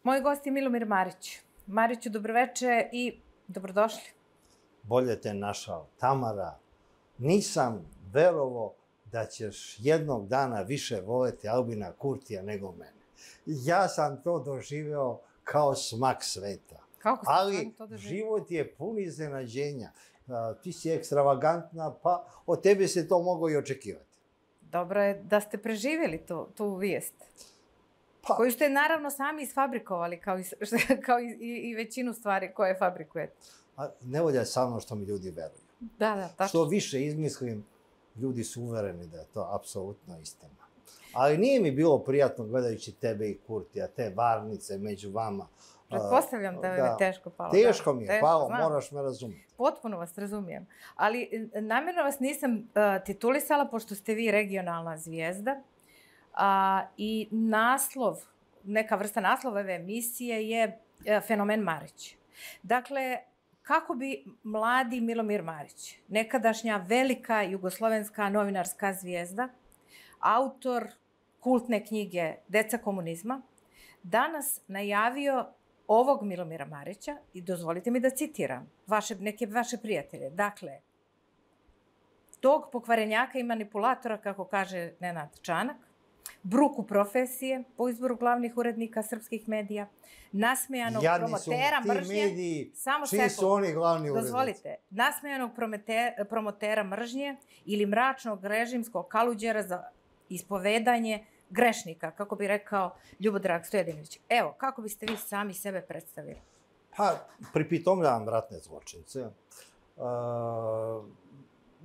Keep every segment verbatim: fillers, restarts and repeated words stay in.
Moj gost je Milomir Marić. Mariću, dobroveče i dobrodošli. Bolje te našao. Tamara, nisam verovo da ćeš jednog dana više voleti Albina Kurtija nego mene. Ja sam to doživeo kao smak sveta. Kako ste Ali to doživjeli? život je pun iznenađenja. Ti si ekstravagantna, pa od tebe se to moglo i očekivati. Dobro je da ste preživjeli tu, tu vijest. Pa, Koju ste naravno sami isfabrikovali, kao i, kao i, i većinu stvari koje fabrikujete. a ne volja je samo što mi ljudi veruju. Da, da, tačno. Što više izmislim, ljudi su uvereni da je to apsolutno istina. Ali nije mi bilo prijatno gledajući tebe i Kurtija, te varnice među vama. Pretpostavljam da je teško palo. Teško da, mi je teško, palo, znam. moraš me razumjeti. Potpuno vas razumijem. Ali namjerno vas nisam uh, titulisala, pošto ste vi regionalna zvijezda. A, I naslov, neka vrsta naslova ove emisije je e, Fenomen Marić. Dakle, kako bi mladi Milomir Marić, nekadašnja velika jugoslovenska novinarska zvijezda, autor kultne knjige Deca komunizma, danas najavio ovog Milomira Marića, i dozvolite mi da citiram vaše, neke vaše prijatelje. Dakle, tog pokvarenjaka i manipulatora, kako kaže Nenad Čanak, bruku profesije po izboru glavnih urednika srpskih medija, nasmejanog Jadni promotera su ti mržnje... mediji, Samo čiji sekund. su oni glavni urednici? Dozvolite, nasmejanog promete, promotera mržnje ili mračnog režimskog kaluđera za ispovedanje grešnika, kako bi rekao Ljubodrag Stojadinović. Evo, kako biste vi sami sebe predstavili? Pa, pripitomljavam ratne zločince. Uh,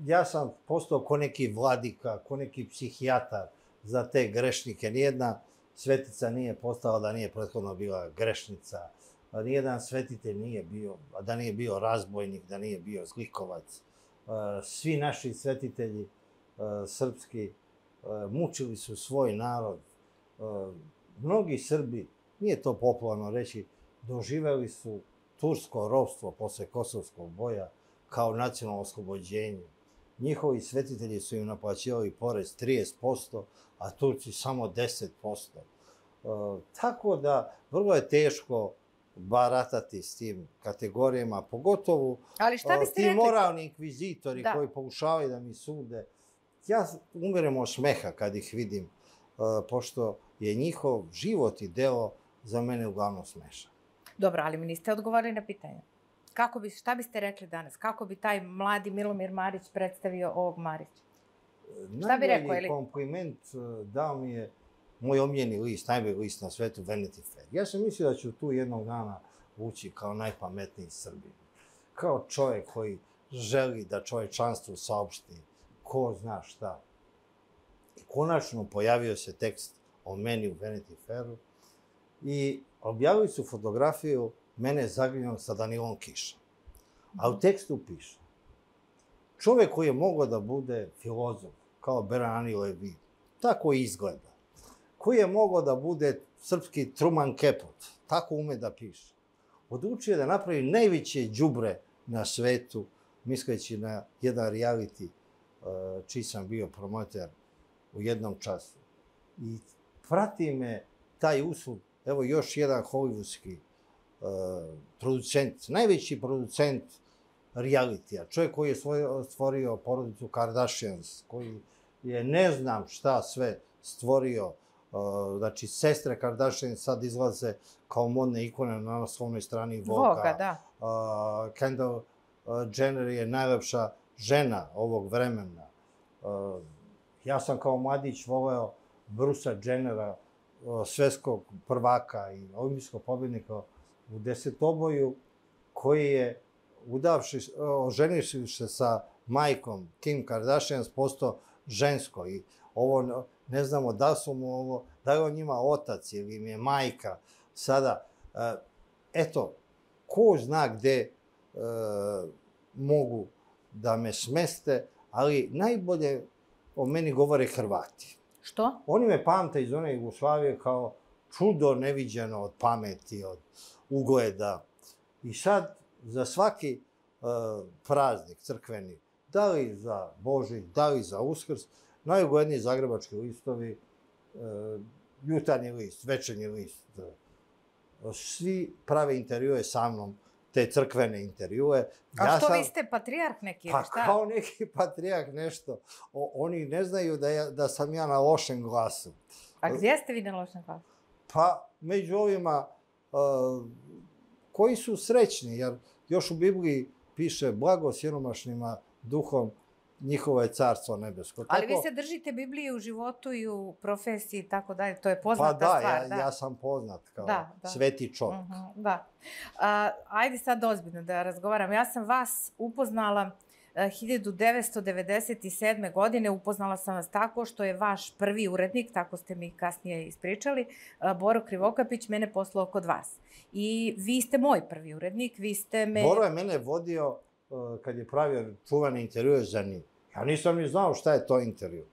ja sam postao ko neki vladika, ko neki psihijatar za te grešnike. Nijedna svetica nije postala da nije prethodno bila grešnica. Nijedan svetitelj nije bio, da nije bio razbojnik, da nije bio zlikovac. Svi naši svetitelji srpski mučili su svoj narod. Mnogi Srbi, nije to popularno reći, doživeli su tursko ropstvo posle Kosovskog boja kao nacionalno oslobođenje. Njihovi svetitelji su im naplaćivali porez trideset posto, a Turci samo deset posto. E, tako da, vrlo je teško baratati s tim kategorijama, pogotovo Ali šta biste ti rekli? moralni inkvizitori Da. koji pokušavaju da mi sude. Ja umirem od smeha kad ih vidim, e, pošto je njihov život i delo za mene uglavnom smešan. Dobro, ali mi niste odgovorili na pitanje. Kako bi, šta biste rekli danas? Kako bi taj mladi Milomir Marić predstavio ovog Marića? Šta bi rekao, Najbolji ili- kompliment dao mi je moj omiljeni list, najbolji list na svetu, Vanity Fair. Ja sam mislio da ću tu jednog dana ući kao najpametniji Srbin. Kao čovjek koji želi da čovječanstvu saopšti ko zna šta. I konačno pojavio se tekst o meni u Vanity Fairu i objavili su fotografiju mene zagrljenog sa Danilom Kišom. A u tekstu piše: čovjek koji je mogao da bude filozof, kao Berani Levi, tako izgleda. Koji je mogao da bude srpski Truman Capote, tako ume da piše. Odlučio da napravi najveće đubre na svetu, misleći na jedan reality, čiji sam bio promoter u jednom času. I prati me taj uslov, evo još jedan hollywoodski uh, producent, najveći producent realitija, čovjek koji je svoj, stvorio porodicu Kardashians, koji je ne znam šta sve stvorio, uh, znači sestre Kardashian sad izlaze kao modne ikone na naslovnoj strani Voga. Voga, da. Uh, Kendall uh, Jenner je najlepša žena ovog vremena. Uh, ja sam kao mladić voleo Brucea Jennera, uh, svetskog prvaka i olimpijskog pobjednika u desetoboju, koji je udavši, oženivši se sa majkom Kim Kardashian, postao žensko. I ovo, ne znamo da su mu ovo, da je on njima otac ili im je majka. Sada, eto, ko zna gde e, mogu da me smeste, ali najbolje o meni govore Hrvati. Što? Oni me pamte iz one Jugoslavije kao čudo neviđeno od pameti, od ugleda. I sad, za svaki uh, praznik crkveni, da li za Božić, da li za Uskrs, najugledniji zagrebački listovi, uh, jutarnji list, večernji list, uh, svi prave intervjue sa mnom, te crkvene intervjue. A Ja što, sam, vi ste patrijarh neki ili pa šta? kao neki patrijarh nešto. O, oni ne znaju da, ja, da sam ja na lošem glasu. A gdje ste vi na lošem glasu? Pa među ovima uh, koji su srećni, jer još u Bibliji piše blago siromašnima duhom, njihovo je carstvo nebesko. Ali Tako, vi se držite Biblije u životu i u profesiji i tako dalje, to je poznata pa da, stvar. ja, Da, ja sam poznat kao Da, da. sveti čovjek. Uh -huh, da. A, ajde sad ozbiljno da razgovaram. Ja sam vas upoznala a, hiljadu devetsto devedeset sedme. godine, upoznala sam vas tako što je vaš prvi urednik, tako ste mi kasnije ispričali, a, Boro Krivokapić, mene poslao kod vas. I vi ste moj prvi urednik, vi ste me... Boro je mene vodio uh, kad je pravio čuvane intervjue za njim. Ja nisam ni znao šta je to intervju.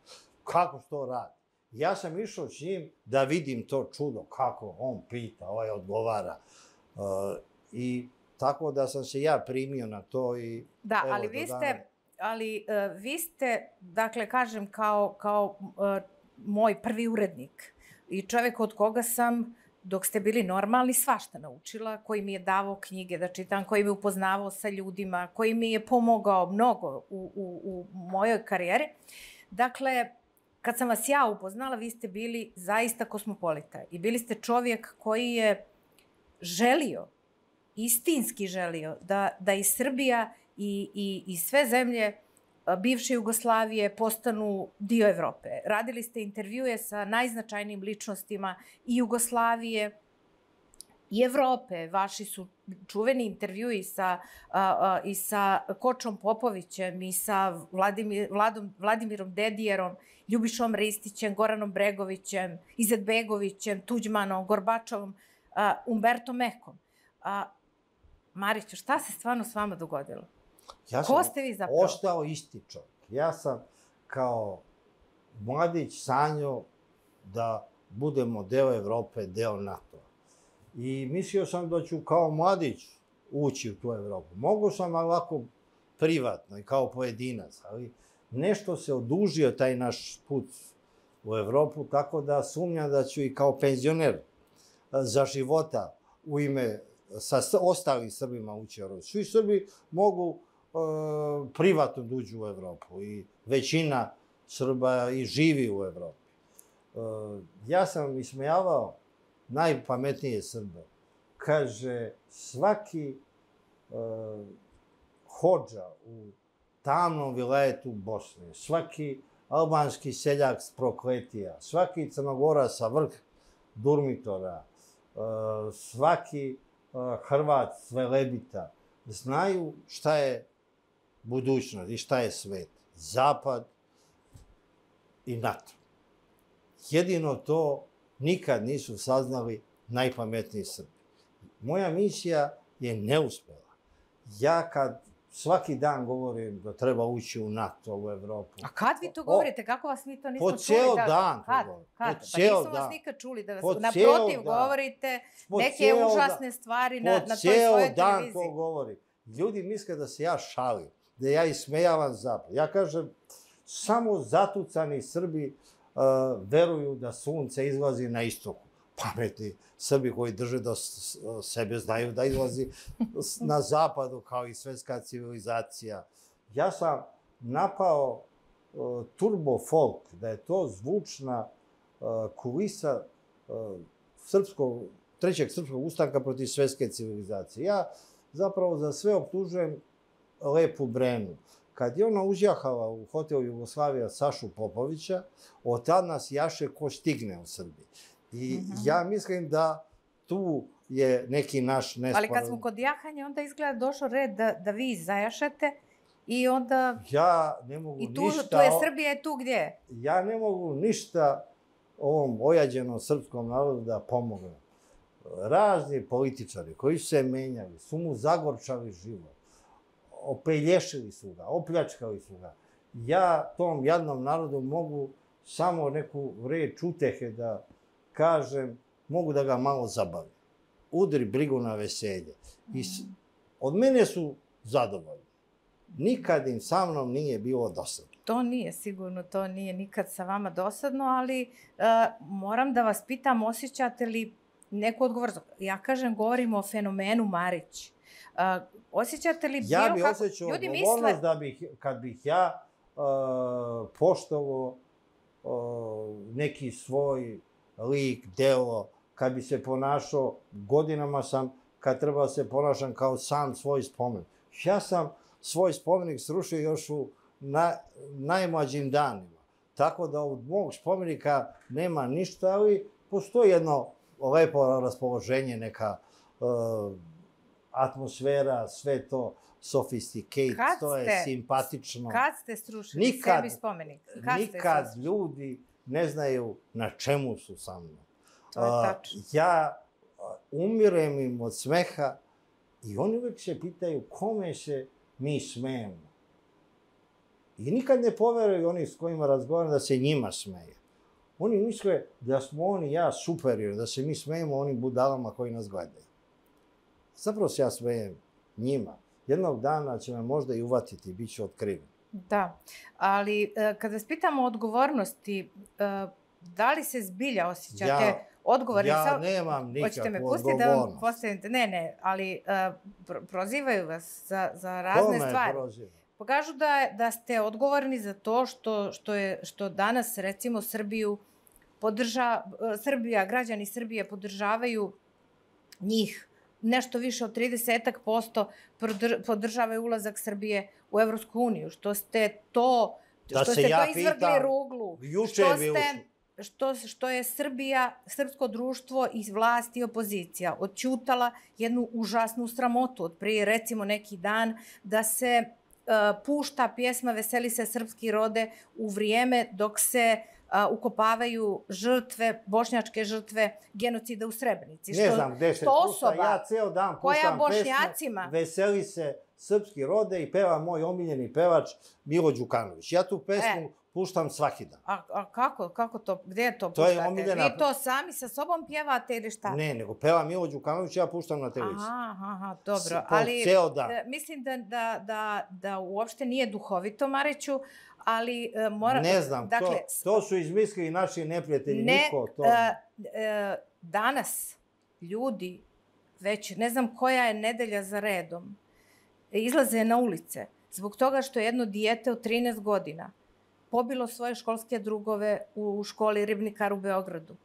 Kako se to radi? Ja sam išao s njim da vidim to čudo, kako on pita, ovaj odgovara. Uh, I tako da sam se ja primio na to i... Da, evo, ali vi dana... ste, ali uh, vi ste, dakle, kažem, kao, kao uh, moj prvi urednik i čovjek od koga sam, dok ste bili normalni, svašta naučila, koji mi je davao knjige da čitam, koji me upoznavao sa ljudima, koji mi je pomogao mnogo u, u, u mojoj karijeri. Dakle, kad sam vas ja upoznala, vi ste bili zaista kosmopolita i bili ste čovjek koji je želio, istinski želio, da, da i Srbija i, i, i sve zemlje bivše Jugoslavije postanu dio Evrope. Radili ste intervjue sa najznačajnijim ličnostima i Jugoslavije i Evrope. Vaši su čuveni intervjui sa, a, a, i sa Kočom Popovićem i sa Vladimir, Vladom, Vladimirom Dedijerom, Ljubišom Ristićem, Goranom Bregovićem, Izetbegovićem, Tuđmanom, Gorbačovom, a, Umbertom Ekom. A, Mariću, šta se stvarno s vama dogodilo? Ja Ko ste vi zapravo? Ostao isti čovjek. Ja sam kao mladić sanjao da budemo deo Evrope, deo NATO. I mislio sam da ću kao mladić ući u tu Evropu. Mogu sam ovako privatno i kao pojedinac, ali nešto se odužio taj naš put u Evropu, tako da sumnjam da ću i kao penzioner za života u ime sa ostalim Srbima ući u Evropu. Svi Srbi mogu e, privatno da uđu u Evropu i većina Srba i živi u Evropi. E, ja sam ismejavao najpametnije Srbe. Kaže, svaki e, hodža u tamnom vilajetu Bosne, svaki albanski seljak s Prokletija, svaki Crnogora sa vrh Durmitora, e, svaki e, Hrvat s Velebita, znaju šta je budućnost i šta je svet. Zapad i NATO. Jedino to nikad nisu saznali najpametniji Srbi. Moja misija je neuspela. Ja kad svaki dan govorim da treba ući u NATO, u Evropu. A kad vi to govorite? Kako vas mi to nismo čuli? Po cijel da, dan. Kad? Govorim. Kad? Po Pa cijel nisam dan. vas nikad čuli da vas Po naprotiv cijel dan. govorite Po neke cijel užasne dan. stvari na, na toj Po svojoj cijel dan televiziji. to govori. Ljudi misle da se ja šalim, da ja ismejavam zapad. Ja kažem, samo zatucani Srbi uh, veruju da sunce izlazi na istoku. Pametni Srbi koji drže do sebe znaju da izlazi na zapadu kao i svetska civilizacija. Ja sam napao uh, turbo folk, da je to zvučna uh, kulisa uh, srpskog, trećeg srpskog ustanka protiv svetske civilizacije. Ja zapravo za sve optužujem Lepu Brenu. Kad je ona uzjahala u hotelu Jugoslavija Sašu Popovića, od tad nas jaše ko stigne u Srbiji. I mm-hmm. ja mislim da tu je neki naš nesporazum. Ali kad smo kod jahanja, onda izgleda došao red da, da vi zajašete i onda... Ja ne mogu I tu, ništa... tu je Srbija, je tu gdje? Ja ne mogu ništa ovom ojađenom srpskom narodu da pomognem. Razni političari koji su se menjali, su mu zagorčali život. Opelješili su ga, opljačkali su ga. Ja tom jadnom narodu mogu samo neku reč utehe da kažem, mogu da ga malo zabavim. Udri brigu na veselje. I s, od mene su zadovoljni. Nikad im sa mnom nije bilo dosadno. To nije, sigurno to nije nikad sa vama dosadno, ali uh, moram da vas pitam, osjećate li neku odgovornost. Ja kažem, govorimo o fenomenu Marić. Uh, osjećate li ja bilo bi kako... osjećao Ljudi odgovornost misle... da bih, kad bih ja uh, poštovao uh, neki svoj lik, delo, kad bi se ponašao, godinama sam, kad treba se ponašam kao sam svoj spomenik. Ja sam svoj spomenik srušio još u na, najmlađim danima. Tako da od mog spomenika nema ništa, ali postoji jedno lepo raspoloženje, neka uh, atmosfera, sve to sophisticated, Kad to je ste- simpatično. Kad ste srušili Nikad- sebi spomenik? Kad ste Nikad srušili? ljudi ne znaju na čemu su sa mnom. To je A, tačno. ja a, umirem im od smeha i oni uvek se pitaju kome se mi smejemo. I nikad ne poveruju oni s kojima razgovaram da se njima smeje. Oni misle da smo oni i ja superiorni, da se mi smejemo onim budalama koji nas gledaju. Zapravo se ja smejem njima. Jednog dana će me možda i uvatiti i bit ću otkriven. Da, ali e, kada vas pitamo o odgovornosti, e, da li se zbilja osjećate Ja- odgovorni? Ja Sa- nemam Hoćete me nikakvu pustiti da vam odgovornost. postavite? Ne, ne, ali e, pro- prozivaju vas za, za razne Kome stvari. proziva? Pa kažu da, da ste odgovorni za to što, što, je, što danas, recimo, Srbiju podrža, e, Srbija, građani Srbije podržavaju njih nešto više od trideset posto prodr- podržavaju ulazak Srbije u Evropsku uniju, što ste to, Da što se ste ja to izvrgli pitam, ruglu, juče što bi ste, ušli. što, što je Srbija, srpsko društvo i vlast i opozicija odćutala jednu užasnu sramotu od prije recimo neki dan da se uh, pušta pjesma Veseli se srpski rode u vrijeme dok se uh, ukopavaju žrtve, bošnjačke žrtve genocida u Srebrenici. Ne znam gde se što pušta, osoba ja ceo dan koja puštam Bošnjacima- pesmu Veseli se srpski rode i peva moj omiljeni pevač Milo Đukanović. Ja tu pesmu E. puštam svaki dan. A, a kako, kako to, gde to To je puštate? omiljena- Vi to sami sa sobom pjevate ili šta? Ne, nego peva Milo Đukanović, ja puštam na televiziji. Aha, aha, dobro, S- to ali ceo dan. e, mislim da, da, da, da uopšte nije duhovito, Mariću, ali e, mora... Ne znam, dakle, to, to su izmislili naši neprijatelji, ne, niko to... e, e, danas ljudi, već ne znam koja je nedelja za redom, izlaze na ulice zbog toga što je jedno dijete od trinaest godina pobilo svoje školske drugove u školi Ribnikar u Beogradu.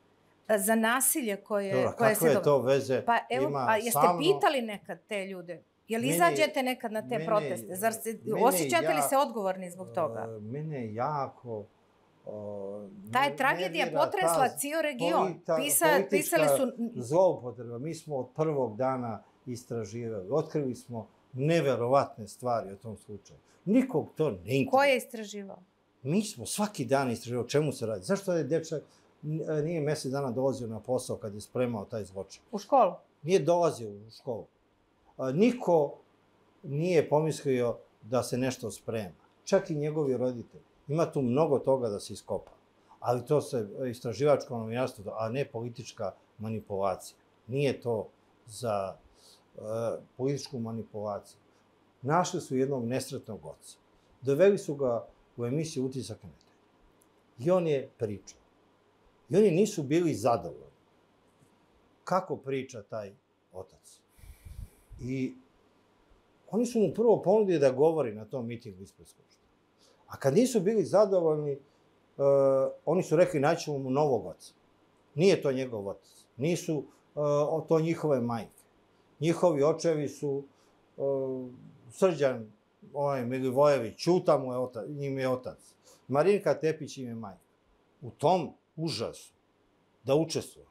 E, Za nasilje koje, Dobro, koje kakve je to veze Pa evo, ima a jeste sa mnom? pitali nekad te ljude? Jel Mene- izađete nekad na te mene- proteste? Zar se, mene osjećate li ja- se odgovorni zbog toga? E, mene jako... o, Ta je ne- tragedija nervira potresla ta cijel region. polita- Pisa, politička pisali su... zloupotreba. Mi smo od prvog dana istraživali. Otkrili smo neverovatne stvari o tom slučaju. Nikog to ne interesuje. Ko je istraživao? Mi smo svaki dan istraživali o čemu se radi. Zašto je dečak n- nije mesec dana dolazio na posao kad je spremao taj zločin? U školu? Nije dolazio u školu. A, niko nije pomislio da se nešto sprema. Čak i njegovi roditelji. Ima tu mnogo toga da se iskopa. Ali to se istraživačko novinarstvo, a ne politička manipulacija. Nije to za uh, političku manipulaciju. Našli su jednog nesretnog oca. Doveli su ga u emisiju Utisak nedelje. I on je pričao. I oni nisu bili zadovoljni. Kako priča taj otac? I oni su mu prvo ponudili da govori na tom mitingu ispred Skupštine. A kad nisu bili zadovoljni, uh, oni su rekli naćemo mu novog oca. Nije to njegov otac. Nisu uh, to njihove majke. Njihovi očevi su uh, Srđan ovaj, Milivojević, Ćuta mu je otac, njim je otac. Marinka Tepić im je majka. U tom užasu da učestvuje.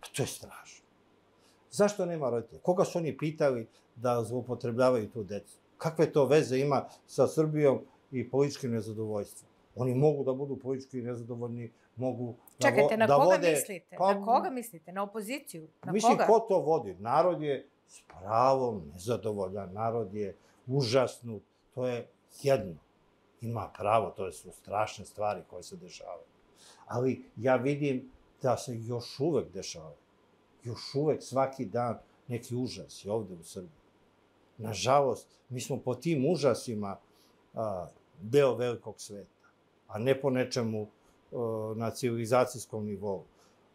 Pa to je strašno. Zašto nema roditelja? Koga su oni pitali da zloupotrebljavaju tu decu? Kakve to veze ima sa Srbijom i političkim nezadovoljstvom? Oni mogu da budu politički nezadovoljni, mogu da, Čekajte, vo, na da koga vode... mislite? Pa, Na koga mislite? Na opoziciju? Na mislim, koga? ko to vodi? Narod je s pravom nezadovoljan, narod je užasnut, to je jedno. Ima pravo, to su strašne stvari koje se dešavaju. Ali ja vidim da se još uvek dešavaju. Još uvek svaki dan neki užas je ovde u Srbiji. Nažalost, mi smo po tim užasima a, deo velikog sveta, a ne po nečemu a, na civilizacijskom nivou.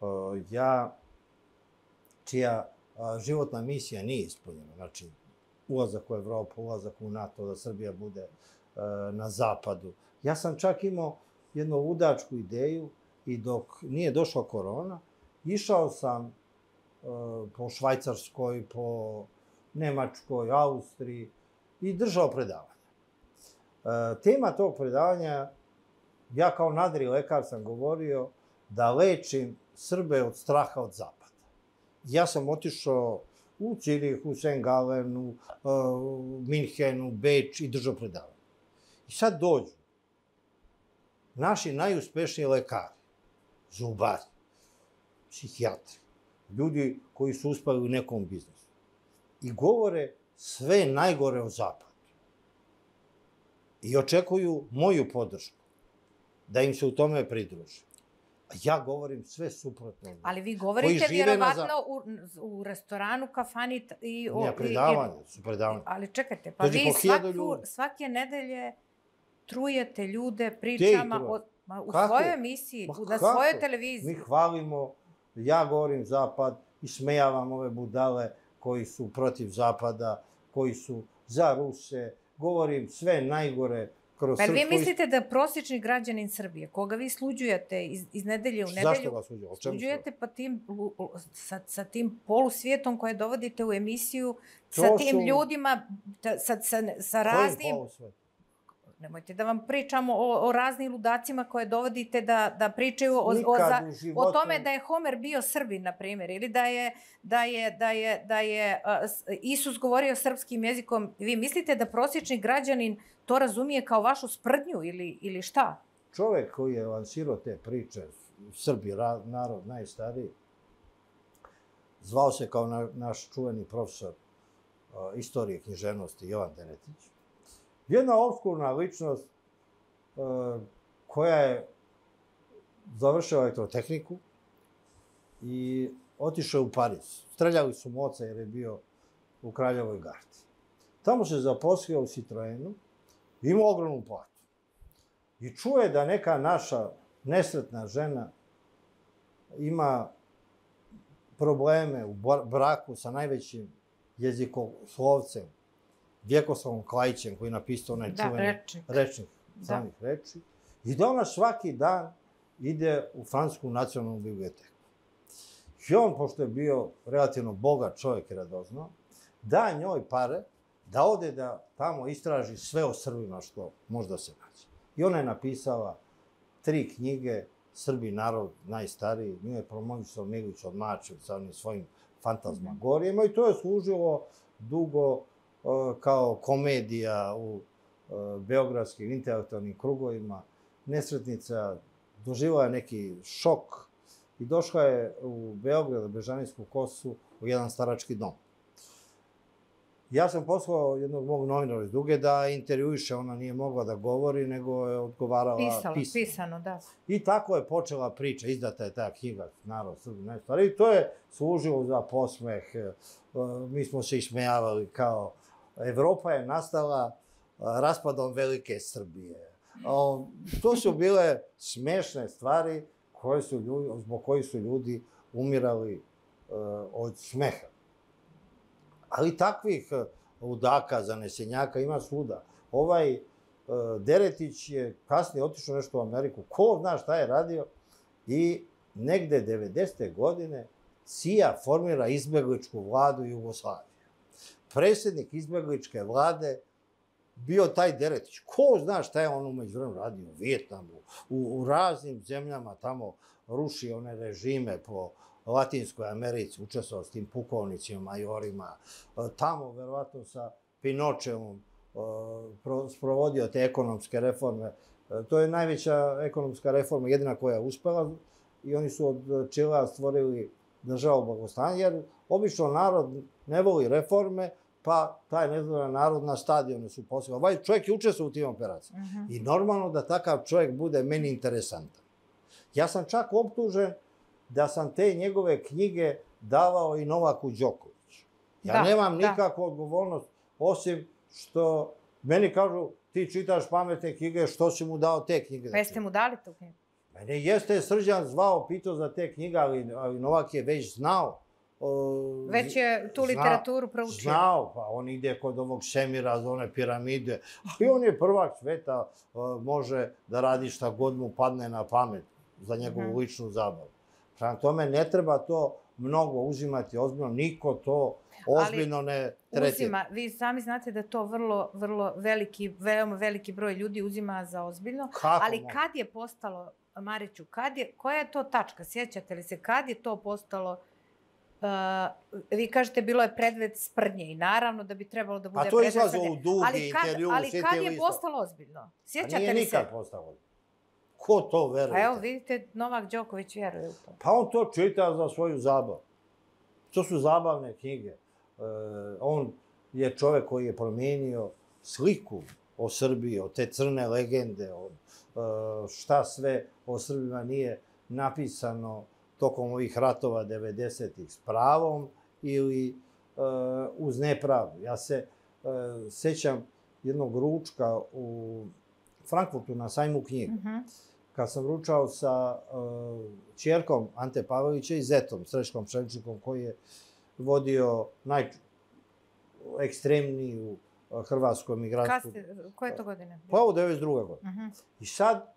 A, ja čija životna misija nije ispunjena. Znači, ulazak u Evropu, ulazak u NATO, da Srbija bude na zapadu. Ja sam čak imao jednu ludačku ideju i dok nije došla korona, išao sam po Švajcarskoj, po Nemačkoj, Austriji i držao predavanja. Tema tog predavanja, ja kao nadri lekar sam govorio da lečim Srbe od straha od zapada. Ja sam otišao u Cirih, u Saint Gallen, u Minhenu, Beč i držao predavanje. I sad dođu naši najuspešniji lekari, zubari, psihijatri, ljudi koji su uspeli u nekom biznisu i govore sve najgore o zapadu. I očekuju moju podršku, da im se u tome pridruži. A ja govorim sve suprotno. Ali vi govorite vjerovatno u restoranu, kafani i... Ne, predavanje, su predavanje. Ali čekajte, pa vi svake nedelje trujete ljude pričama u svojoj emisiji, na svojoj televiziji. Mi hvalimo, ja govorim zapad, ismejavam ove budale koji su protiv zapada, koji su za Ruse, govorim sve najgore kroz srpsko... Pa vi mislite da prosječni građanin Srbije, koga vi sluđujete iz nedelje u nedelju... Zašto ga sluđujete? Sluđujete pa sa tim polusvijetom koje dovodite u emisiju, sa tim ljudima, sa raznim... Kojim polusvijet? Nemojte da vam pričamo o raznim ludacima koje dovodite da pričaju o tome da je Homer bio Srbin, na primjer, ili da je Isus govorio srpskim jezikom. Vi mislite da prosječni građanin to razumije kao vašu sprdnju ili šta? Čovek koji je lansirao te priče, Srbi, narod najstariji, zvao se kao naš čuveni profesor istorije književnosti Jovan Deretić. Jedna obskurna ličnost koja je završila elektrotehniku i otišao u Pariz. Streljali su mu oca jer je bio u Kraljevoj gardi. Tamo se zaposlio u Citroenu, imao ogromnu platu. I čuje da neka naša nesretna žena ima probleme u braku sa najvećim jezikoslovcem, Vjekoslavom Klajićem, koji je napisao onaj čuveni rečnik samih reči, i da ona svaki dan ide u Francusku nacionalnu biblioteku. I on, pošto je bio relativno bogat čovjek i radoznao, da njoj pare da ode da tamo istraži sve o Srbima što možda se nađe. I ona je napisala tri knjige, Srbi, narod najstariji, nju je promovisao Milić od Mačev sa onim svojim fantazmagorijama i to je služilo dugo kao komedija u beogradskim intelektualnim krugovima. Nesretnica doživjela je neki šok i došla je u Beograd, u Bežanijsku kosu, u jedan starački dom. Ja sam poslao jednog mog novinara iz Duge da intervjuiše, ona nije mogla da govori, nego je odgovarala pisano. Pisano, da. I tako je počela priča, izdata je ta knjiga Narod Srbi najstariji. I to je služilo za posmeh, mi smo se ismejavali kao Evropa je nastala raspadom velike Srbije. To su bile smešne stvari zbog kojih su ljudi umirali od smeha. Ali takvih ludaka, zanesenjaka ima svuda. Ovaj Deretić je kasnije otišao nešto u Ameriku, ko zna šta je radio, i negde devedesete godine C I A formira izbegličku vladu Jugoslavije. Predsjednik izbegličke vlade bio taj Deretić. Ko zna šta je on umeđu vremenu radio u Vijetnamu, u raznim zemljama, tamo ruši one režime po Latinskoj Americi, učestvovao s tim pukovnicima, majorima, tamo verovatno sa Pinočevom sprovodio te ekonomske reforme. To je najveća ekonomska reforma, jedina koja je uspela, i oni su od Čilea stvorili državu blagostanja, jer obično narod ne voli reforme, pa taj nezadovoljan narod na stadione su poslali. Ovaj čovjek je učestvovao u tim operacijama. I normalno da takav čovjek bude meni interesantan. Ja sam čak optužen da sam te njegove knjige davao i Novaku Đokoviću. Ja nemam nikakvu odgovornost, osim što meni kažu ti čitaš pametne knjige, što si mu dao te knjige? Pa jeste mu dali tu knjigu? Mene jeste Srđan zvao, pitao za te knjige, ali Novak je već znao Već je tu literaturu proučio. Znao, pa on ide kod ovog Šemira, za one piramide, ali on je prvak sveta, može da radi šta god mu padne na pamet za njegovu ličnu zabavu. Prema tome, ne treba to mnogo uzimati ozbiljno, niko to ozbiljno ne tretira. Vi sami znate da to vrlo, vrlo veliki, veoma veliki broj ljudi uzima za ozbiljno. Ali kad je postalo, Mariću, koja je to tačka? Sjećate li se kad je to postalo? Vi kažete bilo je predmet sprdnje i naravno da bi trebalo da bude predmet sprdnje. A to je izlazilo u dugi intervju. Ali kad je postalo ozbiljno? Sjećate li se? A nije nikad postalo ozbiljno. Ko to veruje? A evo vidite, Novak Đoković vjeruje u to. Pa on to čita za svoju zabavu. To su zabavne knjige. On je čovek koji je promijenio sliku o Srbiji, o te crne legende, šta sve o Srbima nije napisano tokom ovih ratova devedesetih s pravom ili uz nepravdu. Ja se sećam jednog ručka u Frankfurtu na sajmu knjiga. Kad sam ručao sa ćerkom Ante Pavelića i zetom, Srećkom Ševčnikom, koji je vodio najekstremniju hrvatsku emigransku... Koje to godine? Pa ovo devedeset druga godina. I sad,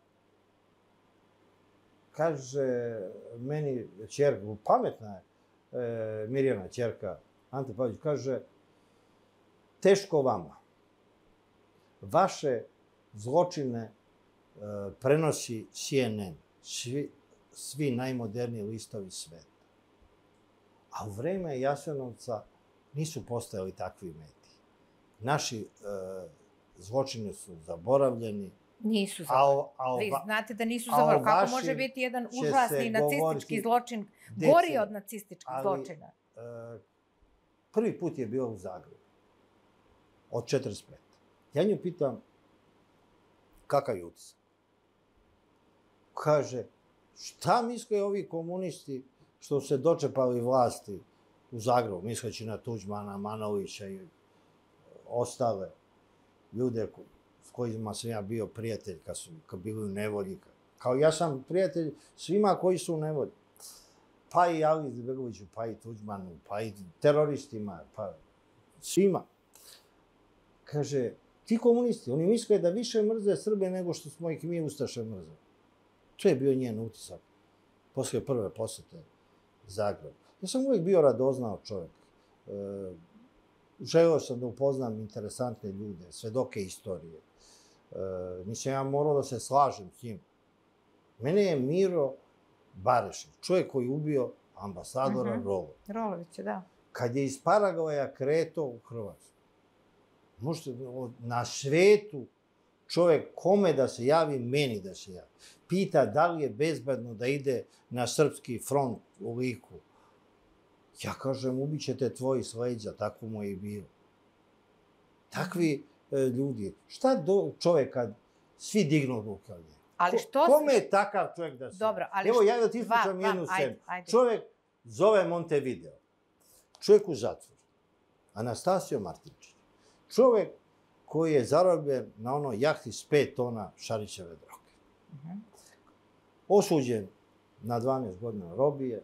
kaže meni ćerka, pametna je Mirjana ćerka Ante Pavelić, kaže, teško vama. Vaše zločine prenosi C N N, svi najmoderniji listovi sveta. A u vreme Jasenovca nisu postojali takvi mediji. Naši zločini su zaboravljeni. Nisu zaboravljeni. Vi znate da nisu zaboravljeni. Kako može biti jedan užasni nacistički zločin gori od nacističkih zločina? Prvi put je bio u Zagrebu. Od četrdeset pete. Ja nju pitam kakav je utisak. Kaže, šta misle ovi komunisti što se dočepali vlasti u Zagrebu, misleći na Tuđmana, Manovića i ostale ljude s kojima sam ja bio prijatelj kad su bili u nevolji. Kao ja sam prijatelj svima koji su u nevolji. Pa i Ali Izetbegoviću, pa i Tuđmanu, pa i teroristima, pa svima. Kaže, ti komunisti, oni misle da više mrze Srbe nego što smo ih mi Ustaše mrzeli. To je bio njen utisak posle prve posete Zagrebu. Ja sam uvijek bio radoznao čovjek. Želeo sam da upoznam interesantne ljude, svedoke istorije. Mislim, ja morao da se slažem s njim. Mene je Miro Barešić, čovjek koji je ubio ambasadora Rolovića. Rolovića, da. Kad je iz Paragvaja kretao u Hrvatsku, možete, na svetu čovjek kome da se javi, meni da se javi. Pita da li je bezbedno da ide na srpski front u Liku. Ja kažem, ubićete tvoji s leđa, tako mu je i bilo. Takvi ljudi. Šta čovjek kad svi dignu ruke od njega? Kome je takav čovjek da se... Dobro, ali... Evo, ja da ti ispričam jednu scenu. Čovjek zove Montevideo. Čovjek u zatvoru. Anastasio Martinčić. Čovjek koji je zarobljen na onoj jahti s pet tona Šarićeve droge. Osuđen na dvanaest godina robije.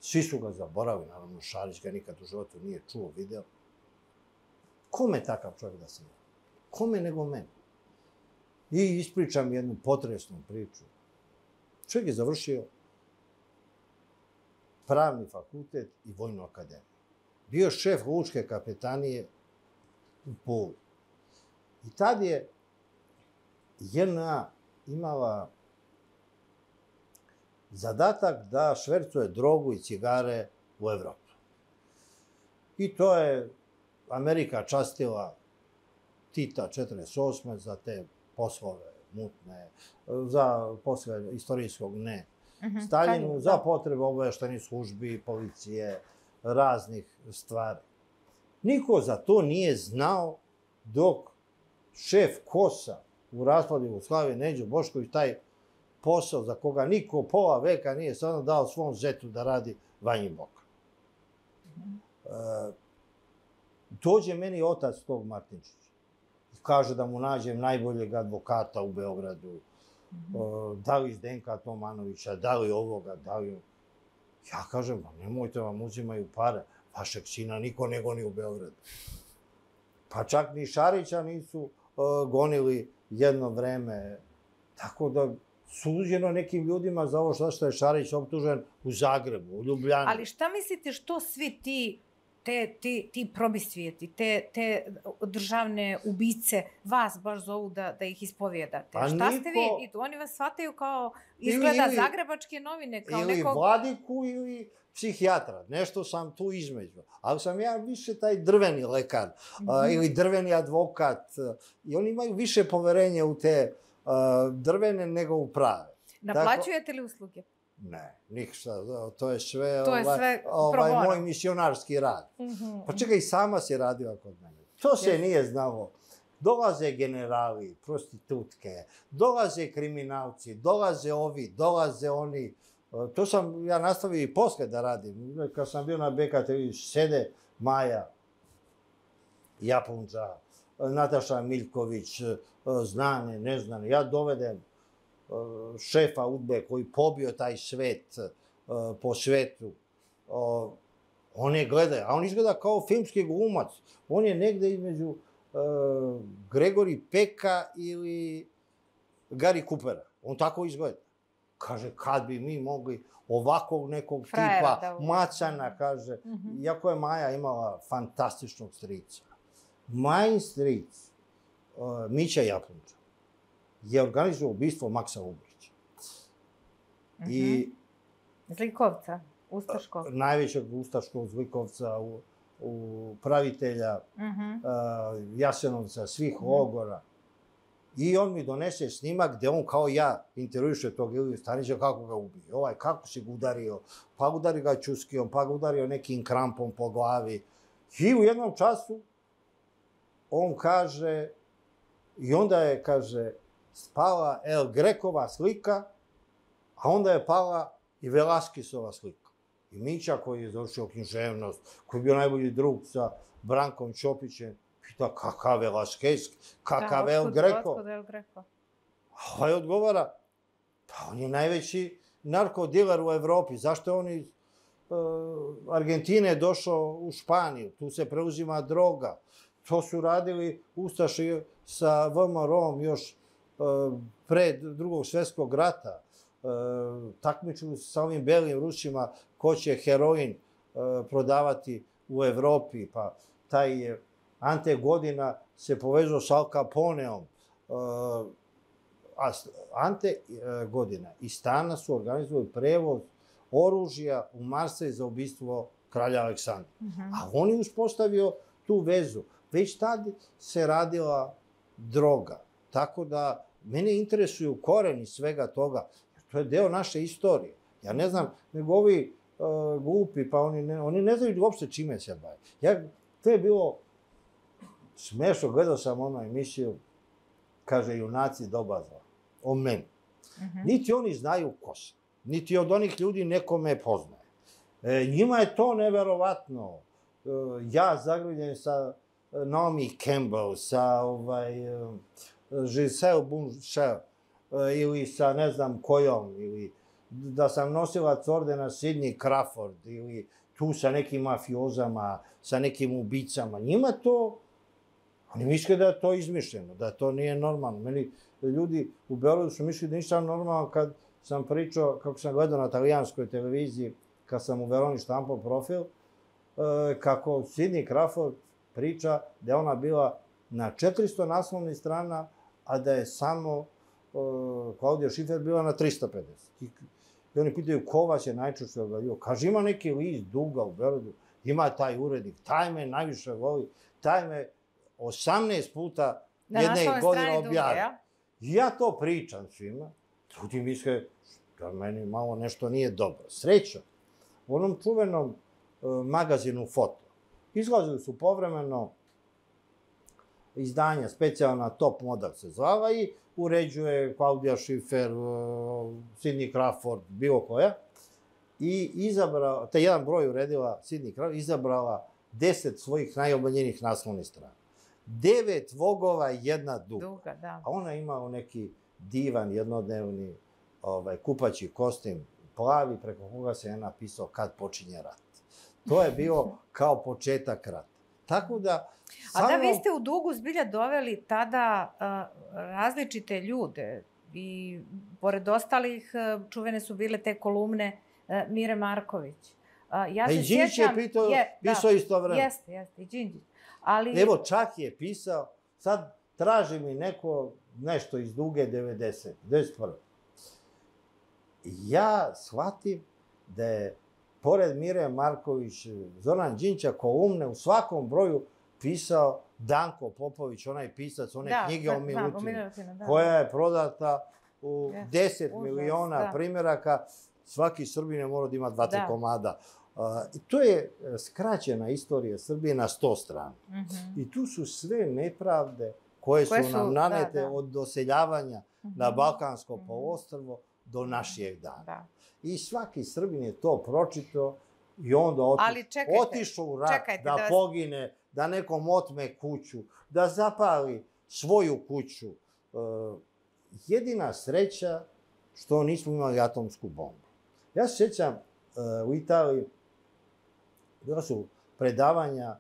Svi su ga zaboravili, naravno Šarić ga nikad u životu nije čuo, video. Kome takav čovjek da se javi? Kome nego meni? I ispričam jednu potresnu priču. Čovjek je završio pravni fakultet i vojnu akademiju. Bio šef lučke kapetanije u Puli. I tad je J N A imala zadatak da švercuje drogu i cigare u Evropu. I to je Amerika častila Tita četrdeset osme za te poslove mutne, za poslove istorijskog ne. Staljinu za potrebe obavještajnih službi, policije, raznih stvari. Niko za to nije znao dok šef KOS-a u raspadu Jugoslavije, Neđo Bošković, taj posao za koga niko pola veka nije stvarno dao svom zetu da radi Vanji Boka. Dođe meni otac tog Martinčića. Kaže da mu nađem najboljeg advokata u Beogradu, da li iz Zdenka Tomanovića, da li ovoga, da li... Ja kažem, nemojte vam uzimaju pare, vašeg sina niko ne goni u Beogradu. Pa čak ni Šarića nisu gonili jedno vreme. Tako da suđeno nekim ljudima za ovo što je Šarić optužen u Zagrebu, u Ljubljani. Ali šta mislite što svi ti te, ti, ti probisvijeti, te, te državne ubice vas baš zovu da, da ih ispovijedate? Pa šta niko... ste vi? Oni vas shvataju kao, izgleda, ili, zagrebačke novine, kao ili nekog... Ili vladiku ili psihijatra. Nešto sam tu između. Ali sam ja više taj drveni lekar mm -hmm. uh, ili drveni advokat. Uh, I oni imaju više poverenja u te uh, drvene nego u prave. Naplaćujete Tako... li usluge? Ne, ništa, to je sve, to je ovaj, sve ovaj moj misionarski rad. Mm -hmm. Pa čekaj, i sama si radila kod mene. To se yes. nije znalo. Dolaze generali, prostitutke, dolaze kriminalci, dolaze ovi, dolaze oni. To sam ja nastavio i posle da radim. Kad sam bio na B K T V, sede Maja Japunča, Nataša Miljković, znane, neznane. Ja dovedem šefa udbe koji pobio taj svet po svetu. On je gleda, a on izgleda kao filmski glumac. On je negde između Gregori Peka ili Gary Coopera. On tako izgleda. Kaže, kad bi mi mogli ovakvog nekog Frajera, tipa, da, macana, kaže. Mm -hmm. Iako je Maja imala fantastičnog strica. Majin stric, uh, Mića Japunča, je organizovao ubistvo Maksa Ubrića. Mm -hmm. I... Zlikovca, ustaškog. Uh, najvećeg ustaškog zlikovca, u, u pravitelja mm -hmm. uh, Jasenovca, svih mm -hmm. logora. I on mi donese snimak gde on kao ja intervjuše tog Iliju Stanića kako ga ubije. Ovaj, kako si ga udario, pa udari ga čuskijom, pa ga udario nekim krampom po glavi. I u jednom času on kaže, i onda je, kaže, spala El Grekova slika, a onda je pala i Velaskisova slika. I Mića koji je završio književnost, koji je bio najbolji drug sa Brankom Ćopićem, pita kakav Velaskis, kakav da, El Greko. Otkud El Greko? A ovaj odgovara, pa on je najveći narkodiler u Evropi. Zašto je on iz uh, Argentine došao u Španiju? Tu se preuzima droga. To su radili ustaši sa V M R-om još uh, pre drugog svjetskog rata. Uh, takmičili se sa ovim belim Rusima ko će heroin uh, prodavati u Evropi. Pa taj je Ante Godina se povezao sa Al Caponeom. Uh, a Ante uh, Godina i Stana su organizovali prevoz oružja u Marsej za ubistvo kralja Aleksandra. Mm -hmm. A on je uspostavio tu vezu. Već tad se radila droga. Tako da mene interesuju koreni svega toga. To je deo naše istorije. Ja ne znam, nego ovi uh, glupi, pa oni ne, oni ne znaju uopšte čime se bave. Ja, to je bilo smešno, gledao sam onu emisiju, kaže, junaci doba zla, o meni. Mm -hmm. Niti oni znaju ko sam, niti od onih ljudi neko me poznaje. E, njima je to neverovatno. E, ja zagrljen sa Naomi Campbell, sa ovaj, Giselle Bunchel, ili sa ne znam kojom, ili da sam nosilac ordena Sidney Crawford, ili tu sa nekim mafiozama, sa nekim ubicama. Njima to, oni misle da je to izmišljeno, da to nije normalno. Meni ljudi u Beogradu su mislili da nisam normalno kad sam pričao, kako sam gledao na talijanskoj televiziji, kad sam u Veroni štampao profil, kako Sidney Crawford priča da je ona bila na četiristo naslovnih strana, a da je samo Klaudija Šifer bila na tristo pedeset. I, i oni pitaju ko vas je najčešće objavio. Kaže, ima neki list duga u Beogradu, ima taj urednik, taj me najviše voli, taj me osamnaest puta jedne godine objavio. I ja to pričam svima, ljudi misle da meni malo nešto nije dobro. Srećom, u onom čuvenom uh, magazinu Foto, izlazili su povremeno izdanja, specijalna Top Model se zvala i uređuje Klaudija Šifer, Sidney Crawford, bilo koja. I izabrala, te jedan broj uredila Sidney Crawford, izabrala deset svojih najomiljenijih naslovnih strana. Devet vogova i jedna duga. Duga, da. A ona imala neki divan, jednodnevni ovaj, kupaći kostim, plavi preko koga se je napisao kad počinje rat. To je bio kao početak rata. Tako da... A da, vi ste u Dugu zbilja doveli tada različite ljude i pored ostalih čuvene su bile te kolumne Mire Marković. Ja se sjećam... I Đinđić je pisao isto vreme. Jeste, jeste, i Đinđić. Ali... Evo, čak je pisao, sad traži mi neko nešto iz Duge devedeset, devedeset prve. Ja shvatim da je, pored Mire Marković, Zoran Đinđića, kolumne u svakom broju pisao Danko Popović, onaj pisac, one knjige o Milutinu, koja je prodata u deset miliona primjeraka. Svaki Srbin je morao da ima dva, tri komada. I to je skraćena istorija Srbije na sto strana. I tu su sve nepravde koje su nam nanete od doseljavanja na Balkansko poluostrvo do naših dana. I svaki Srbin je to pročitao i onda otišao u rat da pogine, da nekom otme kuću, da zapali svoju kuću. Jedina sreća što nismo imali atomsku bombu. Ja se sjećam u Italiji, bila su predavanja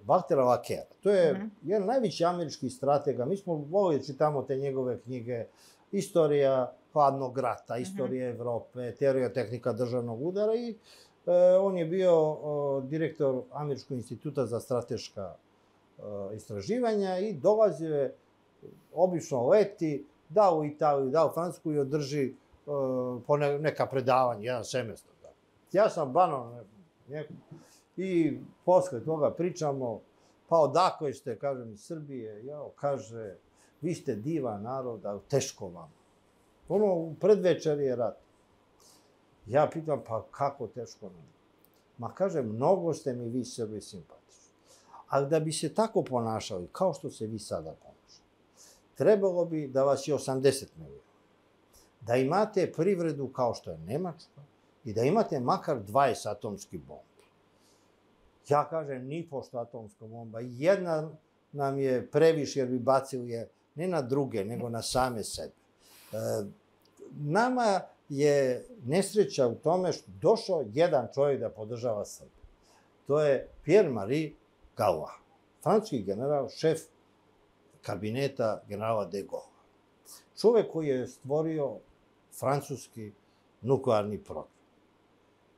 Valtera Lakera. To je jedan najveći američki stratega. Mi smo volili da čitamo te njegove knjige. Istorija hladnog rata, istorija Evrope, teorija tehnika državnog udara i on je bio direktor Američkog instituta za strateška istraživanja i dolazio je, obično leti, da u Italiju, da u Francusku i održi po neka predavanja, jedan semestar. Ja sam banan i posle toga pričamo, pa odakle ste, kažem, iz Srbije, jao, kaže, vi ste divan narod, ali teško vam. Ono, u predvečer je rat. Ja pitam, pa kako teško nam? Ma kaže, mnogo ste mi vi Srbi simpatični. Ali da bi se tako ponašali, kao što se vi sada ponašali, trebalo bi da vas je osamdeset miliona. Da imate privredu kao što je Nemačka i da imate makar dvadeset atomskih bombi. Ja kažem, ni pošto atomska bomba. Jedna nam je previše jer bi bacili je ne na druge, nego na same sebe. Nama je nesreća u tome što došao jedan čovjek da podržava Srbiju. To je Pierre-Marie Galois, francuski general, šef kabineta generala de Gaulle. Čovjek koji je stvorio francuski nuklearni program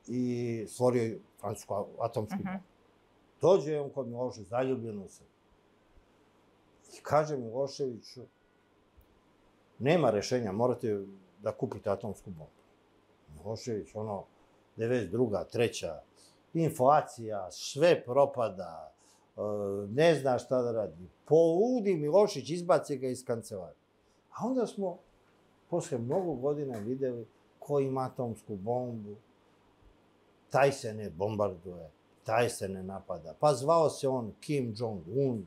i stvorio francusku atomsku bombu. Dođe on kod Miloševića, zaljubljen u Srbiju. I kaže Miloševiću, nema rešenja, morate da kupite atomsku bombu. Milošević, ono, devedeset druga, treća, inflacija, sve propada, ne zna šta da radi. Poludi Milošević, izbaci ga iz kancelarije. A onda smo, posle mnogo godina, videli ko ima atomsku bombu, taj se ne bombarduje, taj se ne napada. Pa zvao se on Kim Jong-un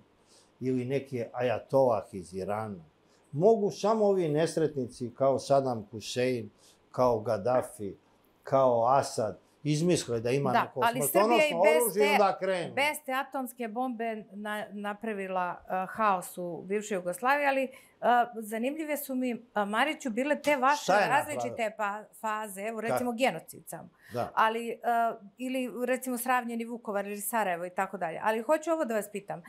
ili neki ajatolah iz Irana. Mogu samo ovi nesretnici kao Saddam Hussein, kao Gaddafi, kao Asad, izmisle da ima neko smrtonosno oružje i onda krenu. Bez te atomske bombe napravila haos u bivšoj Jugoslaviji, ali zanimljive su mi, Mariću, bile te vaše različite faze, evo recimo genocid samo, ili recimo sravnjeni Vukovar ili Sarajevo i tako dalje. Ali hoću ovo da vas pitam.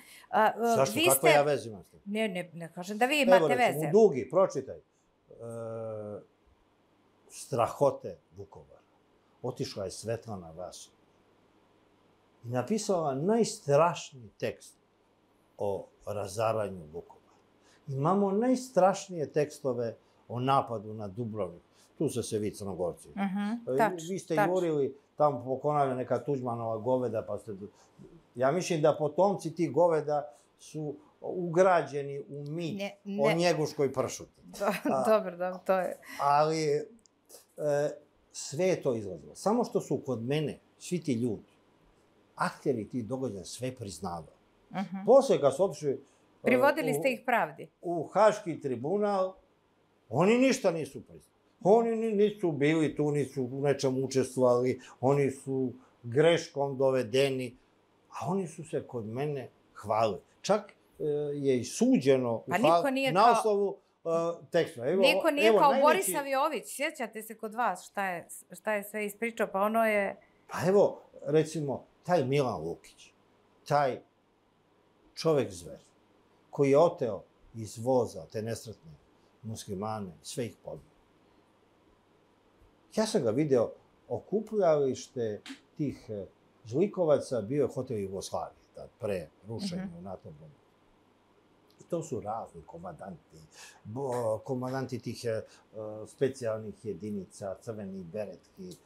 Zašto? Kako ja veze imam s tim? Ne, ne kažem da vi imate veze. Evo recimo, u Dugi, pročitaj. Strahote Vukovara. Otišla je Svetlana Vasović i napisala najstrašniji tekst o razaranju Vukovara. Imamo najstrašnije tekstove o napadu na Dubrovnik. Tu su se vi Crnogorci. Vi ste jurili tamo pokonali neka Tuđmanova goveda, pa ste... Ja mislim da potomci tih goveda su ugrađeni u mit o Njeguškoj pršuti. Dobro, dobro, to je... Ali... Sve je to izlazilo. Samo što su kod mene svi ti ljudi, akteri tih događaja, sve priznavali. Posle kad su otišli... Privodili ste ih pravdi. U Haški tribunal, oni ništa nisu priznali. Oni nisu bili tu, nisu u nečem učestvovali, oni su greškom dovedeni, a oni su se kod mene hvalili. Čak je i suđeno na osnovu tekstova. Niko nije kao Boris Saviović, sjećate se kod vas šta je sve ispričao, pa ono je... Pa evo, recimo, taj Milan Lukić, taj čovek zver, koji je oteo iz voza te nesretne muslimane, sve ih pobio. Ja sam ga video, okupljalište tih zlikovaca bio je hotel Jugoslavije, pre rušenja u NATO bombu. I to su razni komandanti, komandanti tih specijalnih jedinica, crveni beretki,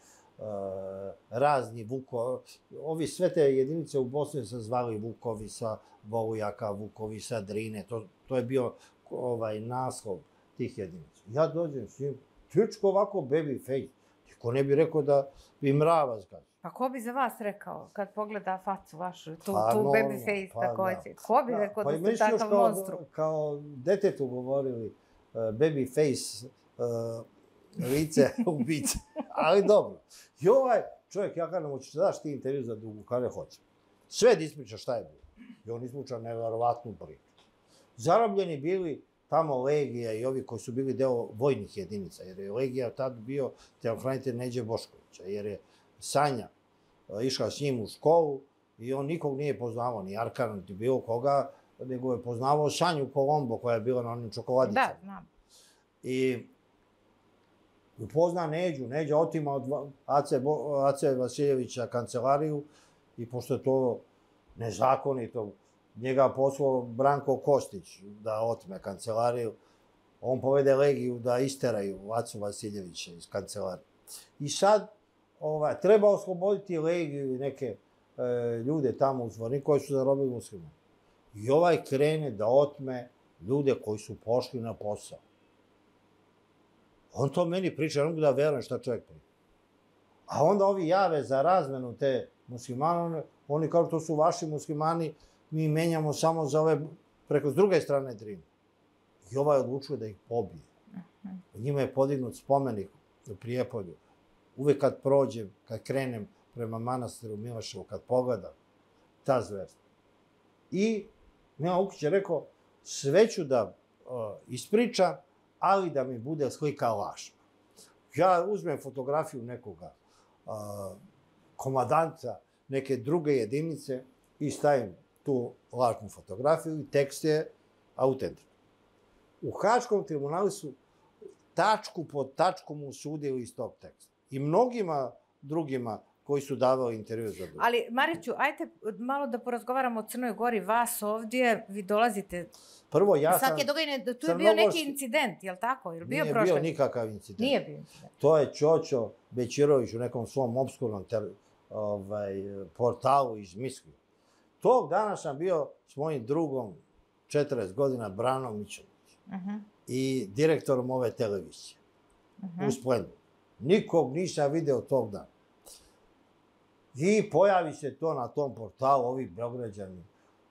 razni Vuko, ovi sve te jedinice u Bosni se zvali Vukovi sa Volujaka, Vukovi sa Drine, to je bio naslov tih jedinica. Ja dođem s njim, tičko ovako baby face, niko ne bi rekao da bi mrava zgazi. Pa ko bi za vas rekao, kad pogleda facu vašu, tu baby face takođe? Ko bi rekao da ste takav monstrum? Kao detetu govorili, baby face, lice, ubice. Ali dobro. I ovaj čovjek, ja kažem, hoćeš da daš ti intervju za Dugu, kada hoće. Sve da ispriča šta je bilo. I on ispriča neverovatnu priču. Zarobljeni bili tamo Legija i ovi koji su bili deo vojnih jedinica, jer je Legija tad bio telohranitelj Neđe Boškovića, jer je Sanja išla s njim u školu i on nikog nije poznavao, ni Arkana, ni bilo koga, nego je poznavao Sanju Kolombo koja je bila na onim čokoladicama. Da, znam. I upozna Neđu, Neđa otima od Ace Vasiljevića kancelariju i pošto je to nezakonito, njega poslao Branko Kostić da otme kancelariju, on povede Legiju da isteraju Acu Vasiljevića iz kancelarije. I sad treba osloboditi Legiju i neke ljude tamo u Zvorniku koji su zarobili muslimane. I ovaj krene da otme ljude koji su pošli na posao. On to meni priča, ne mogu da verujem šta čovjek priča. A onda ovi jave za razmenu te muslimane, oni kao to su vaši muslimani, mi menjamo samo za ove preko s druge strane Drine. I ovaj odlučuje da ih pobije. Njima je podignut spomenik u Prijepolju. Uvek kad prođem, kad krenem prema manastiru Miloševu, kad pogledam, ta zverstva. I Milan Lukić je rekao, sve ću da ispričam, ali da mi bude slika lažna. Ja uzmem fotografiju nekoga komadanta, neke druge jedinice i stavim tu lažnu fotografiju i tekst je autentičan. U Haškom tribunalu su tačku po tačku mu sudili iz tog teksta. I mnogima drugima koji su davali intervju za drugo. Ali, Mariću, ajte malo da porazgovaramo o Crnoj Gori. Vas ovdje, vi dolazite... Prvo, ja sam... Svake događene, tu je bio neki incident, je li tako? Nije bio nikakav incident. Nije bio incident. To je Ćoćo Bećirović u nekom svom obskurnom portalu izmislio. Tog dana sam bio s mojim drugom, četrdeset godina, Branom Mićunovićem i direktorom ove televizije u Splendu. Nikog nisam video tog dana. I pojavi se to na tom portalu, ovi Beograđani,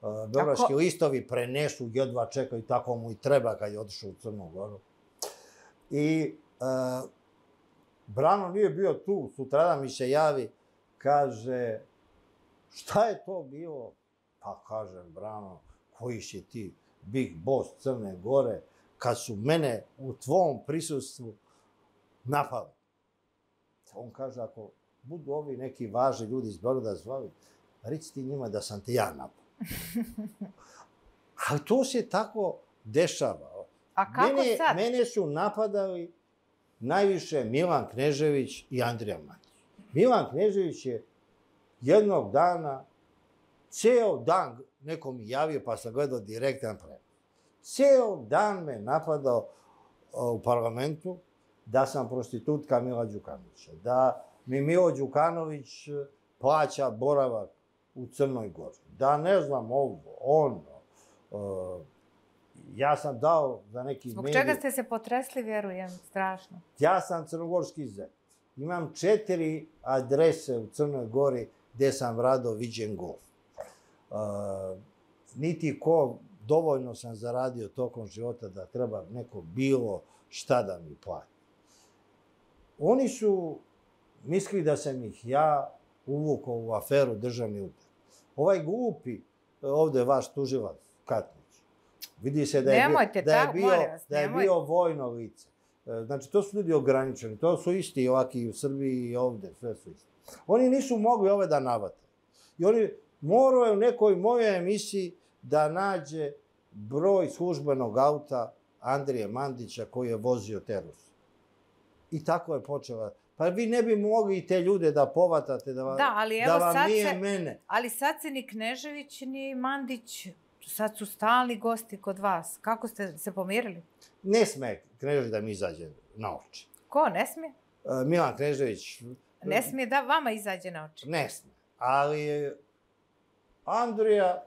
beogradski listovi prenesu, jedva čekaju, tako mu i treba kad je otišao u Crnu Goru. I Brano nije bio tu, sutradan mi se javi, kaže, šta je to bilo? Pa kažem, Brano, koji si ti big boss Crne Gore, kad su mene u tvom prisustvu napali. On kaže, ako budu ovi neki važni ljudi iz Beograda zvali, reci ti njima da sam te ja napao. Ali to se tako dešava. A kako sad? Mene su napadali najviše Milan Knežević i Andrija Mandić. Milan Knežević je jednog dana, ceo dan, neko mi javio pa sam gledao direktan prenos. Ceo dan me napadao u parlamentu da sam prostitutka Mila Đukanovića, da mi Milo Đukanović plaća boravak u Crnoj Gori, da ne znam ovo, ono. Ja sam dao za neki medij... Zbog čega ste se potresli, vjerujem, strašno? Ja sam crnogorski zet. Imam četiri adrese u Crnoj Gori gde sam rado viđen golf. Niti ko, dovoljno sam zaradio tokom života da treba neko bilo šta da mi plati. Oni su mislili da sam ih ja uvukao u aferu državni udar. Ovaj glupi, ovde vaš tužilac, Katnić, Vidi se da je, Nemojte, da je, ta, bio, vas, da je bio vojno lice. Znači, to su ljudi ograničeni. To su isti ovaki u Srbiji i ovde. Sve su isti. Oni nisu mogli ove da navate. I oni moraju u nekoj mojoj emisiji da nađe broj službenog auta Andrije Mandića koji je vozio te Ruse. I tako je počela. Pa vi ne bi mogli i te ljude da povatate, da, da, ali evo da vam sad nije se, mene. Ali sad se ni Knežević, ni Mandić, sad su stalni gosti kod vas. Kako ste se pomirili? Ne sme Knežević da mi izađe na oči. Ko, ne smije? Uh, Milan Knežević... Ne smije da vama izađe na oči? Ne smije. Ali Andrija,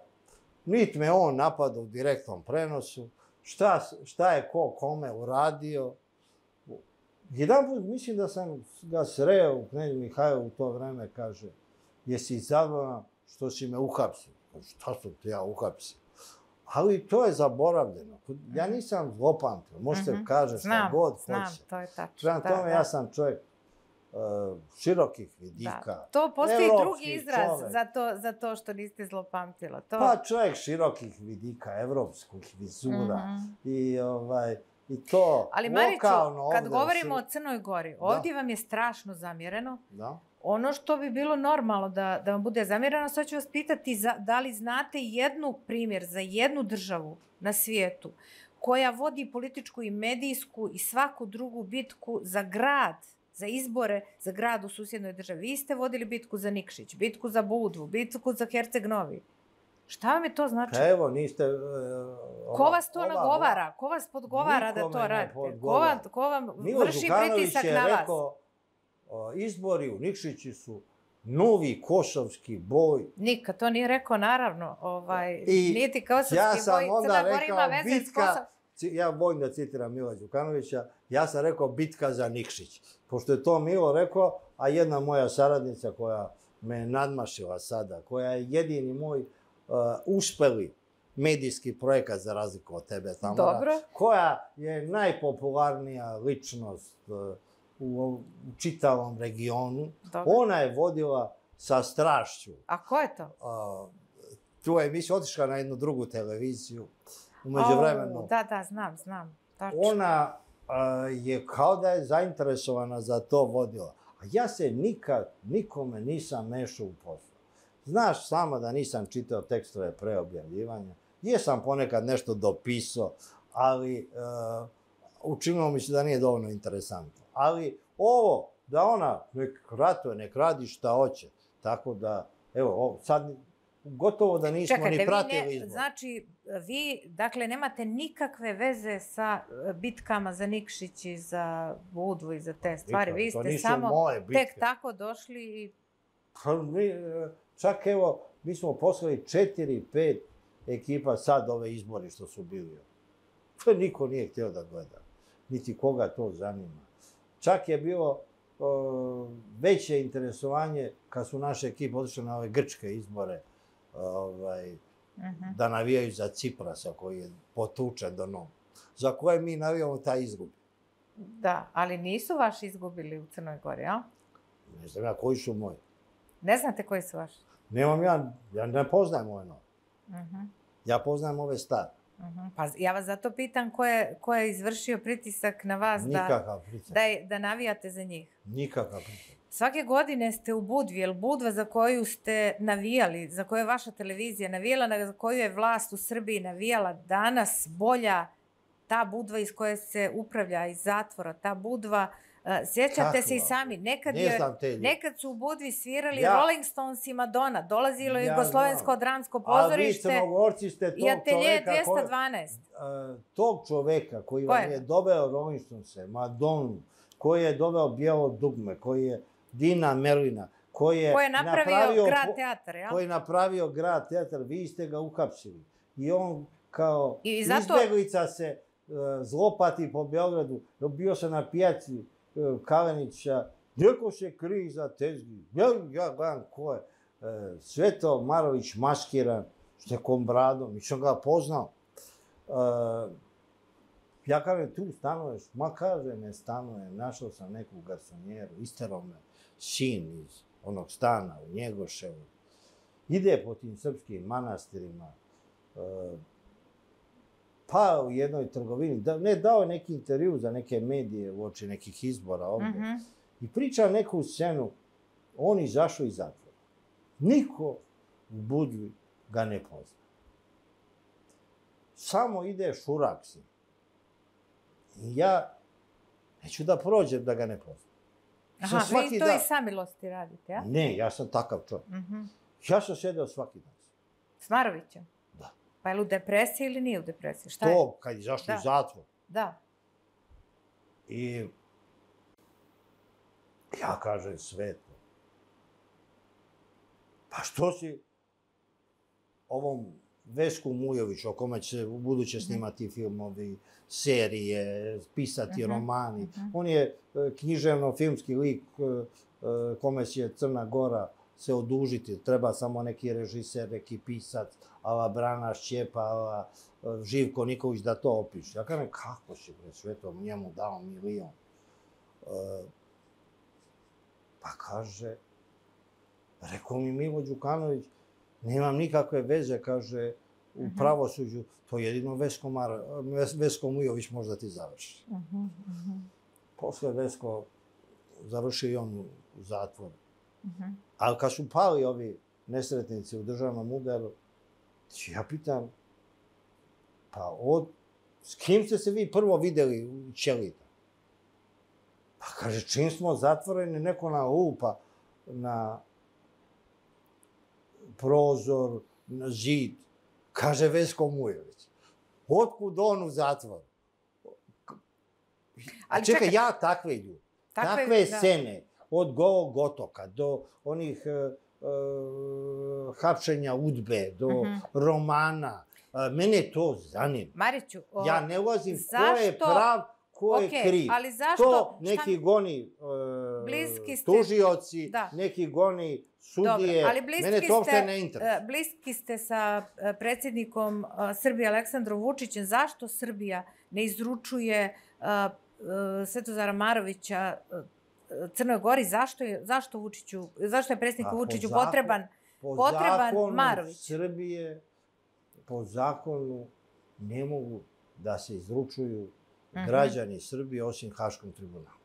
nit me on napada u direktnom prenosu, šta, šta je ko kome uradio. Jedan put mislim da sam ga sreo u Knez Mihajlovu u to vreme, kaže, jesi zadovoljan što si me uhapsio? Šta sam te ja uhapsio? Ali to je zaboravljeno. Ja nisam zlopamtio, možete mm-hmm. kaže šta god hoće. Znam, to je tačno. Prema tome, da, da. Ja sam čovjek uh, širokih vidika. Da. To postoji drugi izraz za to, za to što niste zlopamtila. To... Pa čovjek širokih vidika, evropskih vizura. Mm-hmm. I ovaj... I to ali Mariću, kad govorimo si... o Crnoj Gori, ovdje da. Vam je strašno zamjereno. Da. Ono što bi bilo normalno da, da vam bude zamjereno, sad ću vas pitati za, da li znate jednu primjer za jednu državu na svijetu koja vodi političku i medijsku i svaku drugu bitku za grad, za izbore, za grad u susjednoj državi. Vi ste vodili bitku za Nikšić, bitku za Budvu, bitku za Herceg Novi. Šta vam je to znači? Pa evo, niste... Uh, ova, ko vas to ova, nagovara? Ko vas podgovara da to radite? Ko vam, ko vam vrši pritisak na vas? Je rekao, uh, izbori u Nikšići su novi kosovski boj. Nikad to nije rekao, naravno. Ovaj, I niti kosovski ja sam boj, onda Crna rekao, Gora ima veze bitka, ja volim da citiram Mila Đukanovića, ja sam rekao bitka za Nikšić. Pošto je to Milo rekao, a jedna moja saradnica koja me nadmašila sada, koja je jedini moj Uh, uspeli medijski projekat za razliku od tebe, Tamara, Dobro. koja je najpopularnija ličnost uh, u, u čitavom regionu. Dobro. Ona je vodila sa strašću. A ko je to? Uh, tu je emisija otišla na jednu drugu televiziju. U međuvremenu. Oh, da, da, znam, znam. Tačno. Ona uh, je kao da je zainteresovana za to vodila. A ja se nikad, nikome nisam mešao u poslu. Znaš sama da nisam čitao tekstove pre objavljivanja. Jesam ponekad nešto dopisao, ali uh, učinilo mi se da nije dovoljno interesantno. Ali ovo, da ona nek ratuje, nek radi šta hoće. Tako da, evo, ovo, sad gotovo da nismo Čekajte, ni pratili vi ne, izbor. Znači, vi, dakle, nemate nikakve veze sa bitkama za Nikšić i za Budvu i za te stvari. Nikad, vi ste to samo moje bitke. tek tako došli i... Pa, mi, čak evo, mi smo poslali četiri, pet ekipa sad ove izbori što su bili. To niko nije htio da gleda. Niti koga to zanima. Čak je bilo o, veće interesovanje kad su naše ekipe otišle na ove grčke izbore ovaj, uh-huh. da navijaju za Ciprasa koji je potučen do nogu. Za koje mi navijamo taj izgubi. Da, ali nisu vaši izgubili u Crnoj Gori, a? Ne znam ja koji su moji. Ne znate koji su vaši? Nemam ja, ja ne poznajem ove nove. Uh-huh. Ja poznajem ove stare. Uh-huh. Pa ja vas zato pitam ko je, ko je izvršio pritisak na vas da, da, je, da navijate za njih. Nikakav pritisak. Svake godine ste u Budvi, jer Budva za koju ste navijali, za koju je vaša televizija navijala, za koju je vlast u Srbiji navijala, danas bolja ta Budva iz koje se upravlja iz zatvora, ta Budva, uh, sjećate Kako se i sami, nekad, je, nekad su u Budvi svirali ja. Rolling Stones i Madonna, dolazilo je ja, Jugoslovensko dramsko pozorište i Atelje dvjesto dvanaest. Uh, tog čoveka koji vam je doveo Rolling Stonese, Madonu, koji je doveo Bijelo dugme, koji je Dina Merlina, koji je, ko je napravio, napravio grad teatar, ja? Koji je napravio grad teatar, vi ste ga uhapsili. I on kao I zato... izbjeglica se uh, zlopati po Beogradu. Bio sam na pijaci uh, Kalenića, neko se krije za tezgi. Ja, ja gledam ko je. Uh, Sveto Marović maskiran, s nekom bradom, nisam ga poznao. Uh, ja kažem, tu stanuješ, ma kaže, ne stanuje, našao sam neku garsonjeru, isterao me sin iz onog stana u Njegoševu. Ide po tim srpskim manastirima, uh, pao u jednoj trgovini, da, ne dao je neki intervju za neke medije uoči nekih izbora ovde, mm-hmm. i priča neku scenu, on izašao iz zatvora. Niko u Budvi ga ne pozna. Samo ide šurak si. I ja neću da prođem da ga ne poznam. Aha, vi to dan... iz samilosti radite, ja? Ne, ja sam takav čovjek. Mm-hmm. Ja sam sedeo svaki dan. S Marovićem? Da. Pa je li u depresiji ili nije u depresiji? Šta to, je? kad je zašao u zatvor. Da. I ja kažem Sveto, pa što si ovom Vesku Mujović, o kome će u buduće snimati filmovi, serije, pisati uh-huh. romani. Uh-huh. On je književno-filmski lik kome će Crna Gora se odužiti. Treba samo neki režiser, neki pisac, ava Brana Šćepa, ava Živko Nikolić da to opiše. Ja kažem, kako će bre Sveto njemu dao milion? Pa kaže, rekao mi Milo Đukanović, nemam nikakve veze, kaže, u pravosuđu, to jedino Vesko, Mar, Vesko Mujović možda ti završi. Uh -huh, uh -huh. Posle Vesko završio i on u zatvoru. Uh -huh. Ali kad su pali ovi nesretnici u državnom udaru, ja pitam, pa od, s kim ste se vi prvo videli u Ćelita? Pa kaže, čim smo zatvoreni, neko na lupa na prozor, na zid. Kaže Vesko Mujović. Otkud on u zatvoru? A čekaj, čekaj, ja takve ljudi, takve, takve scene, da. Od Golog otoka do onih uh, uh, hapšenja udbe, do uh -huh. romana, uh, mene to zanima. Mariću, o, ja ne ulazim zašto... ko je prav, ko je okay, kriv. Ali zašto... To neki šta... goni uh, ste... tužioci, da. Neki goni sudije. Dobro, ali mene to uopšte ne interesuje. Bliski ste sa predsjednikom Srbije Aleksandrom Vučićem. Zašto Srbija ne izručuje uh, uh, Svetozara Marovića uh, Crnoj Gori? Zašto je, zašto Vučiću, zašto je predsjedniku Vučiću po potreban, po potreban Marović? Srbije, po zakonu, ne mogu da se izručuju Uh-huh. građani Srbije osim Haškom tribunalu.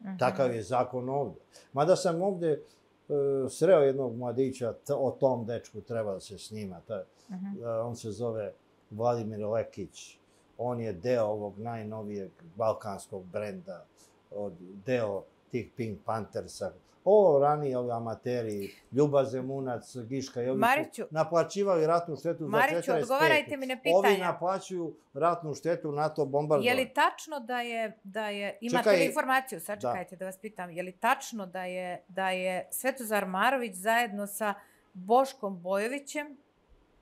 Uh-huh. Takav je zakon ovde. Mada sam ovde uh, sreo jednog mladića, t- o tom dečku treba da se snima. Ta, uh-huh. uh, on se zove Vladimir Lekić. On je deo ovog najnovijeg balkanskog brenda, od, deo tih Pink Panthersa. Ovo ranije, ovi amateri, Ljuba Zemunac, Giška i ovi Mariću, su naplaćivali ratnu štetu za četrdeset pete. Mariću, odgovarajte mi na pitanja. Ovi naplaćuju ratnu štetu NATO bombardovanja. Je li tačno da je, da je imate Čekaj, li informaciju, sačekajte da. da vas pitam, je li tačno da je, da je Svetozar Marović zajedno sa Boškom Bojovićem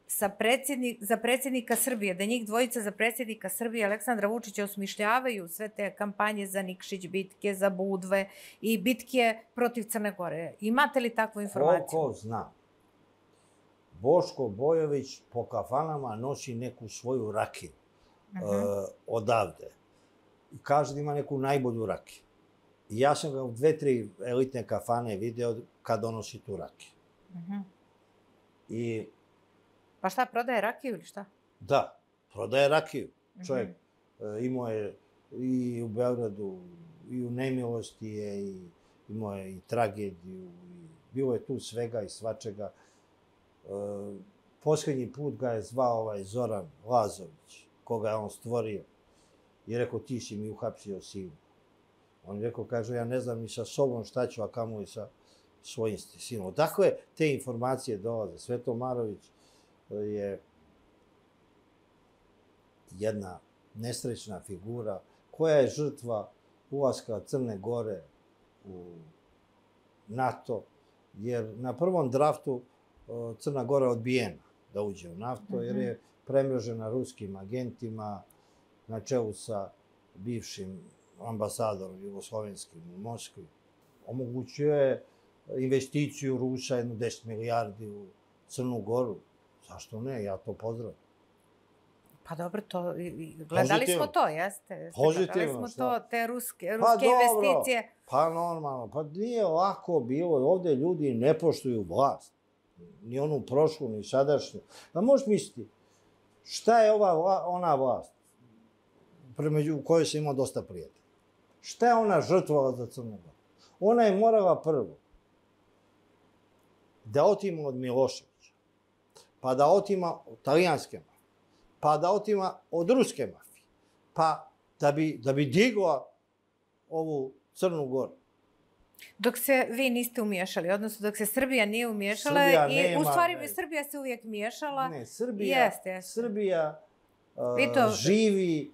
sa predsjednik, za predsjednika Srbije, da njih dvojica za predsjednika Srbije Aleksandra Vučića osmišljavaju sve te kampanje za Nikšić bitke, za Budve i bitke protiv Crne Gore. Imate li takvu informaciju? Koliko znam, Boško Bojović po kafanama nosi neku svoju rakiju uh-huh. uh, odavde. I kaže da ima neku najbolju rakiju. I ja sam ga u dve, tri elitne kafane video kad donosi tu rakiju. Uh-huh. I Pa šta, prodaje rakiju ili šta? Da, prodaje rakiju. Čovjek mm-hmm. imao je i u Beogradu, i u nemilosti je, i imao je i tragediju, i bilo je tu svega i svačega. E, posljednji put ga je zvao ovaj Zoran Lazović, koga je on stvorio, i rekao, ti si mi uhapsio sinu. On je rekao, kaže, ja ne znam ni sa sobom šta ću, a kamo i sa svojim sinom. Dakle, te informacije dolaze. Sveto Marović je jedna nesrećna figura koja je žrtva ulaska Crne Gore u NATO, jer na prvom draftu Crna Gora je odbijena da uđe u NATO, jer je premrežena ruskim agentima na čelu sa bivšim ambasadorom jugoslovenskim u Moskvi. Omogućuje investiciju Rusa jednu deset milijardi u Crnu Goru. Zašto ne? Ja to pozdravim. Pa dobro, to, gledali Pozitivno. smo to, jeste? Pozitivno. Gledali smo šta? to, te ruske, ruske pa investicije. Dobro. Pa normalno. Pa nije lako bilo. Ovde ljudi ne poštuju vlast. Ni onu prošlu, ni sadašnju. Pa možeš misliti, šta je ova, ona vlast? u kojoj sam imao dosta prijatelja. Šta je ona žrtvovala za Crnu Goru? Ona je morala prvo da otima od Miloševića, pa da otima od talijanske mafije, pa da otima od ruske mafije, pa da bi, da bi digla ovu Crnu Goru. Dok se vi niste umiješali, odnosno dok se Srbija nije umiješala Srbija i nema, u stvari ne. Srbija se uvijek miješala. Ne, Srbija, Jeste, jeste. Srbija uh, to- živi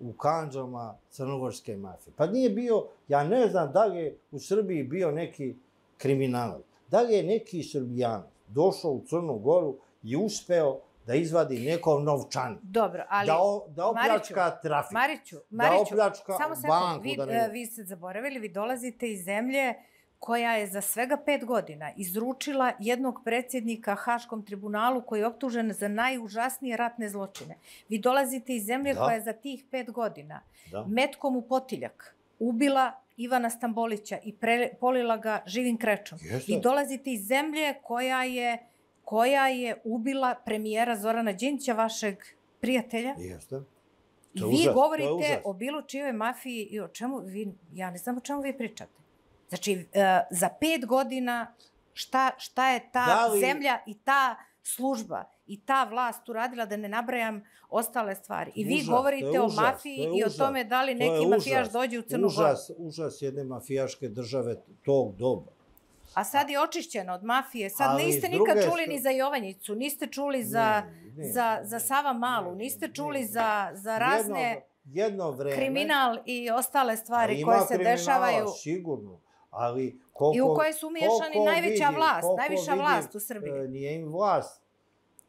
u kandžama crnogorske mafije. Pa nije bio, ja ne znam da li je u Srbiji bio neki kriminalac. Da li je neki Srbijanac došao u Crnu Goru i uspeo da izvadi nekog novčanik. Dobro, ali... Da, o, da opljačka Mariću, trafik. Mariću, Da Mariću, opljačka samo sekund, banku. vi, Da ne... vi ste zaboravili, vi dolazite iz zemlje koja je za svega pet godina izručila jednog predsjednika Haškom tribunalu koji je optužen za najužasnije ratne zločine. Vi dolazite iz zemlje Da. koja je za tih pet godina Da. metkom u potiljak ubila Ivana Stambolića i pre, polila ga živim krečom. Jeste. Vi dolazite iz zemlje koja je, koja je ubila premijera Zorana Đinđića, vašeg prijatelja. Jeste. I To je vi užas, to je govorite užas. o bilo čijoj mafiji i o čemu vi, ja ne znam o čemu vi pričate. Znači, uh, za pet godina šta, šta je ta Da li- zemlja i ta služba i ta vlast uradila, da ne nabrajam ostale stvari. I vi Užas, to govorite je o užas, mafiji to je i o užas. tome da li To je neki mafijaš užas. dođe u Crnu Goru. Užas, užas jedne mafijaške države tog doba. A sad je očišćena od mafije. Sad Ali niste s nikad druge čuli st- ni za Jovanjicu, niste čuli za, Ne, ne, za, ne, za Sava Malu, ne, niste ne, čuli ne. za, za razne Jedno, jedno vreme... kriminal i ostale stvari Ima koje se kriminala, dešavaju. sigurno, ali koliko... I u koje su umiješani koliko najveća vidim- vlast, koliko najviša vidim, vlast u Srbiji. e, Nije im vlast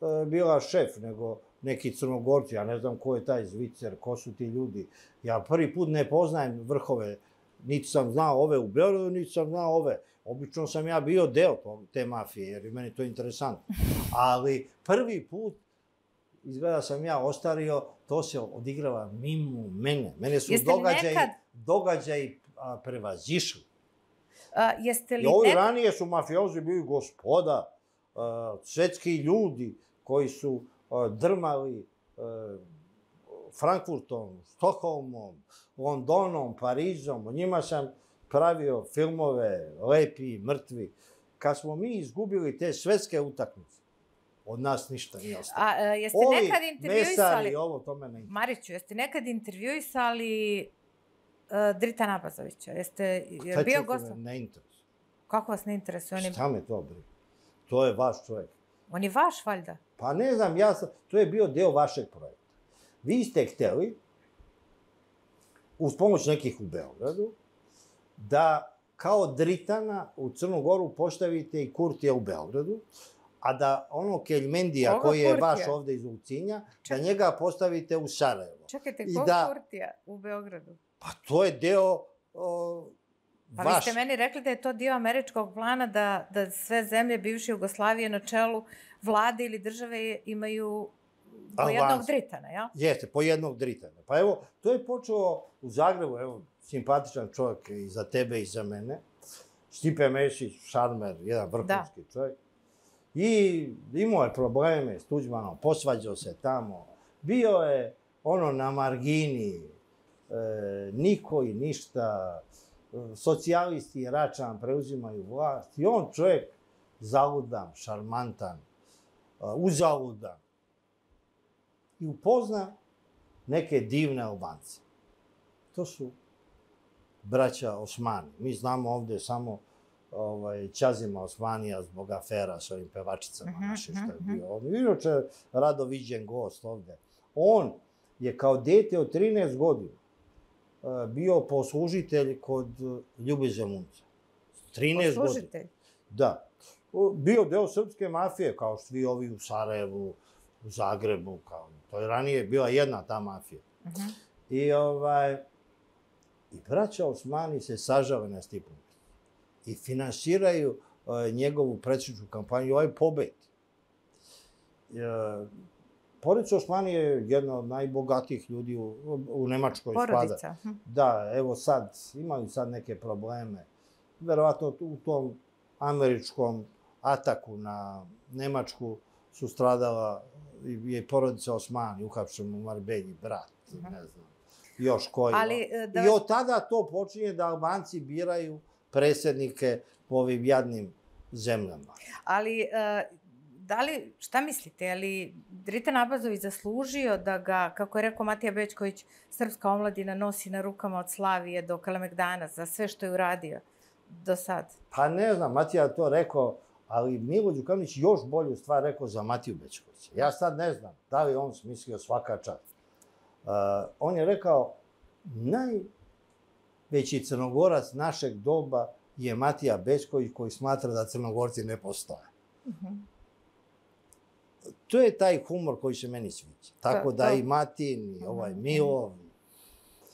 e, bila šef, nego neki Crnogorci, ja ne znam ko je taj Zvicer, ko su ti ljudi. Ja prvi put ne poznajem vrhove, niti sam znao ove u Beogradu, niti sam znao ove. Obično sam ja bio deo te mafije, jer je meni to interesantno. Ali prvi put, izgleda sam ja ostario, to se odigrava mimo mene. Mene su Jeste li događaji, nekad- događaji a, prevazišli. A, jeste li I ovi nek... ranije su mafiozi bili gospoda, a, svetski ljudi koji su a, drmali a, Frankfurtom, Stokholmom, Londonom, Parizom. O njima sam pravio filmove, lepi, mrtvi. Kad smo mi izgubili te svetske utakmice, od nas ništa nije ostalo. A, a, jeste Ovi nekad intervjuisali... mesari, ovo, to me ne interesuje. Mariću, jeste nekad intervjuisali uh, Drita Nabazovića? Jeste je Šta bio će gost? me ne interesuje? Kako vas ne interesuje? On je, Šta me to briga? To je vaš čovjek. on je vaš, valjda. Pa ne znam, ja sam, to je bio deo vašeg projekta. Vi ste htjeli, uz pomoć nekih u Beogradu, da kao Dritana u Crnu Goru postavite i Kurtija u Beogradu, a da ono Keljmendija Koga koji je Kurtija? vaš ovde iz Ulcinja, da njega postavite u Sarajevo. Čekajte, I kog da- Kurtija u Beogradu? Pa to je deo o, Pa vi vaš. ste meni rekli da je to dio američkog plana da, da sve zemlje bivše Jugoslavije na čelu vlade ili države imaju po Albanci. jednog Dritana, jel? Jeste, po jednog Dritana. Pa evo, to je počelo u Zagrebu, evo, simpatičan čovjek i za tebe i za mene. Stipe Mešić, šarmer, jedan vrhunski da. čovjek. I imao je probleme s Tuđmanom, posvađao se tamo. Bio je ono na margini, e, niko i ništa, socijalisti i Račan preuzimaju vlast. I on čovjek zaludan, šarmantan, uzaludan. I upozna neke divne Albance. To su braća Osmani. Mi znamo ovdje samo ovaj, Ćazima Osmanija zbog afera s ovim pevačicama uh -huh, naše što je bio. On je inače rado viđen gost ovdje. On je kao dete od trinaest godina bio poslužitelj kod Ljube Zemunca. trinaest godina. Poslužitelj? Da. Bio deo srpske mafije, kao svi ovi u Sarajevu, u Zagrebu, kao to je ranije bila jedna ta mafija. Uh -huh. I ovaj i braća Osmani se sažale na Stipu i finansiraju uh, njegovu predsjedničku kampanju, ovaj pobed. Uh, Porodica Osmani je jedna od najbogatijih ljudi u, u Nemačkoj. Porodica. Spada. Da, evo sad, imaju sad neke probleme. Verovatno u tom američkom ataku na Nemačku su stradala i porodica Osmani, uhapšen u Marbelji, brat, uh -huh. ne znam. još koji. Ali, da... I od tada to počinje da Albanci biraju predsjednike po ovim jadnim zemljama. Ali, da li, šta mislite, je li Dritan Abazović zaslužio da ga, kako je rekao Matija Bećković, srpska omladina nosi na rukama od Slavije do Kalemegdana za sve što je uradio do sad? Pa ne znam, Matija to rekao, ali Milo Đukanović još bolju stvar rekao za Matiju Bećkovića. Ja sad ne znam da li on smislio svaka čast. Uh, on je rekao, najveći Crnogorac našeg doba je Matija Bećković koji smatra da Crnogorci ne postoje. Uh-huh. To je taj humor koji se meni sviđa. Tako to, da to... i Matin, i ovaj Milo.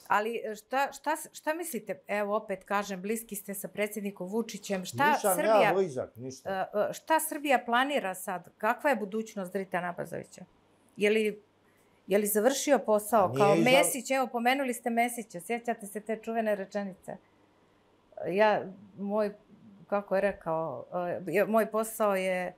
Ali šta, šta, šta mislite, evo opet kažem, bliski ste sa predsjednikom Vučićem, šta Nisam Srbija... ja blizak, ništa. Šta Srbija planira sad? Kakva je budućnost Dritana Abazovića? Je li, je li završio posao kao izla... Mesić? Evo, pomenuli ste Mesića, sjećate se te čuvene rečenice. Ja, moj, kako je rekao, moj posao je...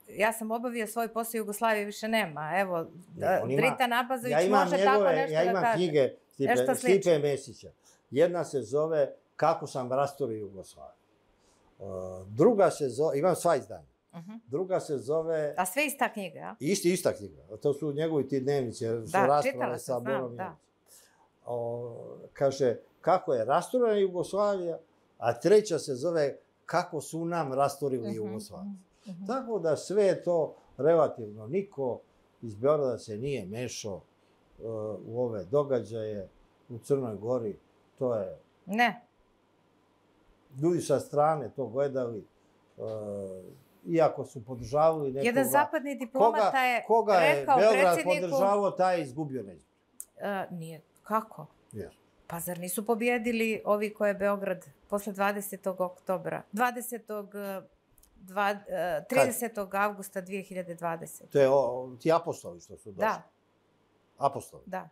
Ja sam obavio svoj posao, Jugoslavije više nema. Evo, ne, Dritan Abazović ja može njegove, tako nešto ja da kaže. Ja imam knjige Stipe, Stipe Mesića. Jedna se zove Kako sam rasturio Jugoslaviju. Uh, druga se zove, imam sva izdanja. Uh-huh. Druga se zove... A sve ista knjiga, a? Isti, ista knjiga. To su njegovi ti dnevnice, su da, rasprave sa Borom. Da, o, kaže, kako je rasturena Jugoslavija, a treća se zove Kako su nam rasturili uh-huh. Jugoslaviju. Uh-huh. Tako da sve je to relativno. Niko iz Beograda se nije mešao uh, u ove događaje u Crnoj Gori. To je... Ne. Ljudi sa strane to gledali, uh, iako su podržavali nekoga... Jedan zapadni diplomata koga, je koga je rekao Beograd predsjedniku... podržavao, taj je izgubio na izbor. Uh, nije. Kako? Yes. Pa zar nisu pobjedili ovi koje je Beograd posle dvadesetog oktobra? dvadesetog Dva, tridesetog avgusta dve hiljade dvadesete. To je o, ti apostoli što su došli? Da. Apostoli? Da.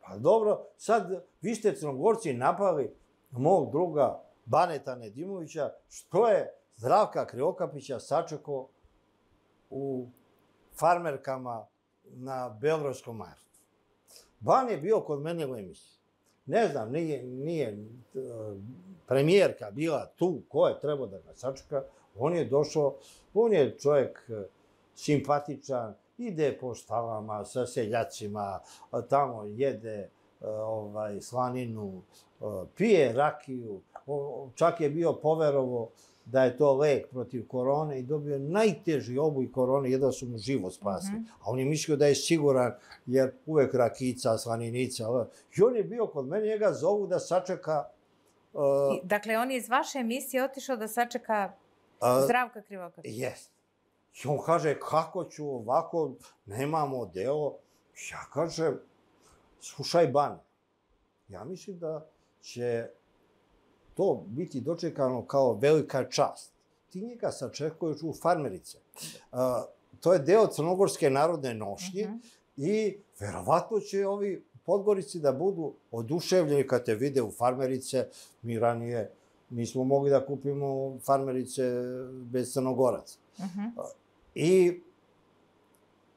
Pa dobro, sad vi ste Crnogorci napali mog druga Baneta Nedimovića, što je Zdravka Krivokapića sačekao u farmerkama na Beogradskom majaru. Ban je bio kod mene u emisiji. Ne znam, nije, nije premijerka bila tu, ko je trebao da ga sačeka. On je došao, on je čovjek simpatičan, ide po štalama sa seljacima, tamo jede ovaj, slaninu, pije rakiju, čak je bio poverovo da je to lek protiv korone i dobio najteži oblik korone, jedva su mu život spasili. Mm-hmm. A on je mislio da je siguran, jer uvek rakica, slaninica. I on je bio kod mene, njega zovu da sačeka... Uh, dakle, on je iz vaše emisije otišao da sačeka Zdravka Krivokapića. Jest. I on kaže, kako ću ovako, nemamo delo. Ja kažem, slušaj Ban, ja mislim da će to biti dočekano kao velika čast. Ti njega sačekuješ u Farmerice. Uh, to je deo Crnogorske narodne nošnje uh-huh. i verovatno će ovi Podgorici da budu oduševljeni kad te vide u Farmerice. Mi ranije nismo mogli da kupimo Farmerice bez Crnogoraca. Uh-huh. Uh, I,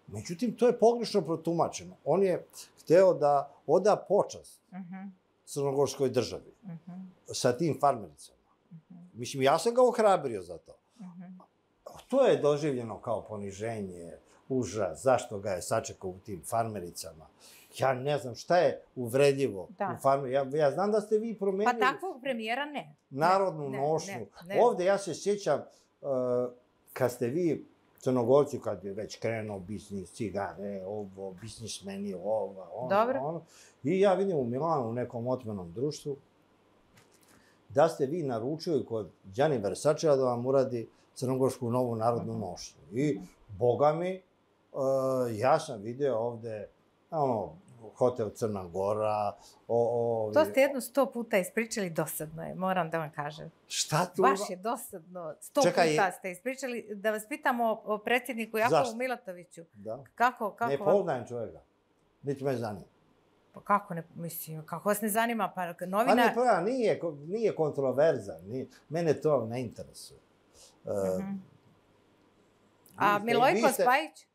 međutim, to je pogrešno protumačeno. On je hteo da oda počast uh-huh. Crnogorskoj državi uh-huh. sa tim Farmericama. Uh-huh. Mislim, ja sam ga ohrabrio za to. Uh-huh. To je doživljeno kao poniženje, užas, zašto ga je sačekao u tim Farmericama. Ja ne znam šta je uvredljivo da. u farmi. Ja, ja znam da ste vi promenili... Pa takvog premijera ne. Narodnu ne, nošnju. Ne, ne. Ovde ja se sjećam uh, kad ste vi Crnogorci, kad je već krenuo biznis, cigare, ovo, biznismeni, ovo, ono, Dobro. ono. I ja vidim u Milanu, u nekom otmenom društvu, da ste vi naručili kod Gianni Versačeva da vam uradi crnogorsku novu narodnu uh-huh. nošnju. I, boga mi, uh, ja sam video ovde, ono, hotel Crna Gora, o, o... To ste jedno sto puta ispričali, dosadno je, moram da vam kažem. Šta tu? Baš je dosadno. Sto Čekaj, puta ste ispričali. Da vas pitamo o predsjedniku Jakovu Milatoviću. Da. Kako, kako ne poznajem čovjeka. Niti me zanima. Pa kako ne, mislim, kako vas ne zanima? Pa novina... Pa ne, pa nije, nije kontroverzan. Nije, mene to ne interesuje. Uh, uh-huh. A Milojko ste... Spajić?